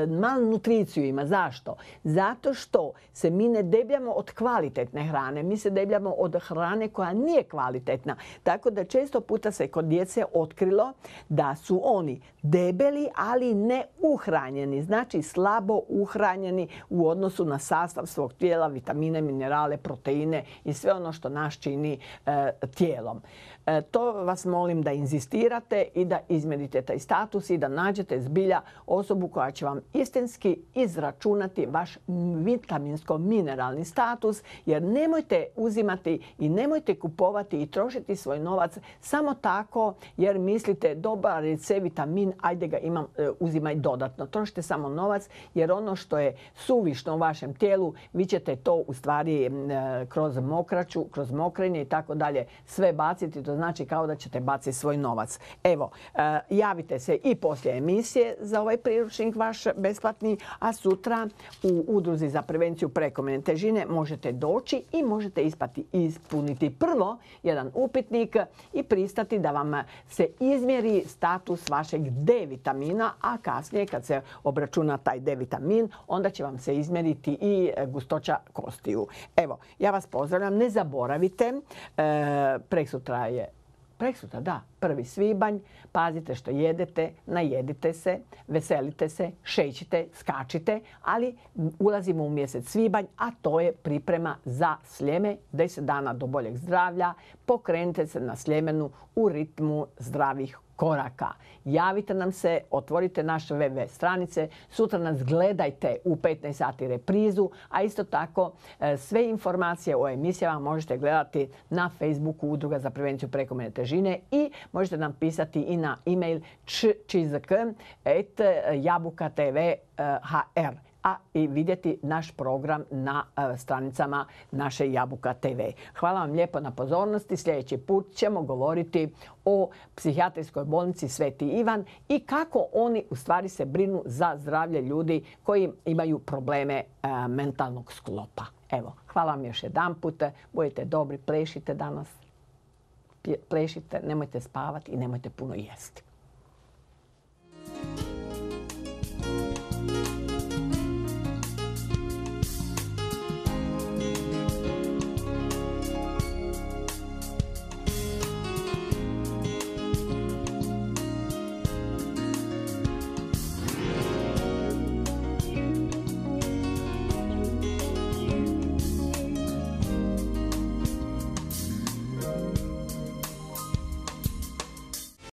malnutriciju ima. Zašto? Zato što se mi ne debljamo od kvalitetne hrane. Mi se debljamo od hrane koja nije kvalitetna. Tako da često puta se kod djece otkrilo da su oni debeli, ali ne uhranjeni. Znači slabo uhranjeni u odnosu na sastav svog tijela, vitamine, minerale, proteine i sve ono što nas čini e, tijelom. E, to vas molim da inzistirate i da izmjerite taj status i da nađete zbilja osobu koja će vam istinski izračunati vaš vitaminsko-mineralni status, jer nemojte uzimati i nemojte kupovati i trošiti svoj novac samo tako jer mislite dobar je C vitamin, ajde ga imam, uzimaj dodatno. Trošite samo novac jer ono što je suvišno u vašem tijelu, vi ćete to u stvari kroz mokraću, kroz mokrenje i tako dalje sve baciti. To znači kao da ćete baciti svoj novac. Evo, javite se i poslije emisije za ovaj priručnik vaš besplatni, a sutra u Udruzi za prevenciju prekomjerne težine možete doći i možete ispati, ispuniti prvo jedan upitnik i pristati da vam se izmjeri status vašeg D vitamina, a kasnije kad se obračuna taj D vitamin, onda će vam se izmjeriti i gustoća kostiju. Evo, ja vas pozdravljam, ne zaboravite, e, preksutra je Preksutra, da, prvi svibanj, pazite što jedete, najedite se, veselite se, šećite, skačite, ali ulazimo u mjesec svibanj, a to je priprema za Sljeme, deset dana do boljeg zdravlja, pokrenite se na Sljemenu u ritmu zdravih koraka. Javite nam se, otvorite naše web stranice, sutra nas gledajte u petnaest sati reprizu, a isto tako sve informacije o emisijama možete gledati na Facebooku Udruga za prevenciju prekomjerne težine i možete nam pisati i na e-mail čizk et jabuka tv hr, a i vidjeti naš program na stranicama naše Jabuka te ve. Hvala vam lijepo na pozornosti. Sljedeći put ćemo govoriti o psihijatrijskoj bolnici Sveti Ivan i kako oni u stvari se brinu za zdravlje ljudi koji imaju probleme mentalnog sklopa. Evo, hvala vam još jedan put. Budite dobri, plešite danas. Plešite, nemojte spavati i nemojte puno jesti.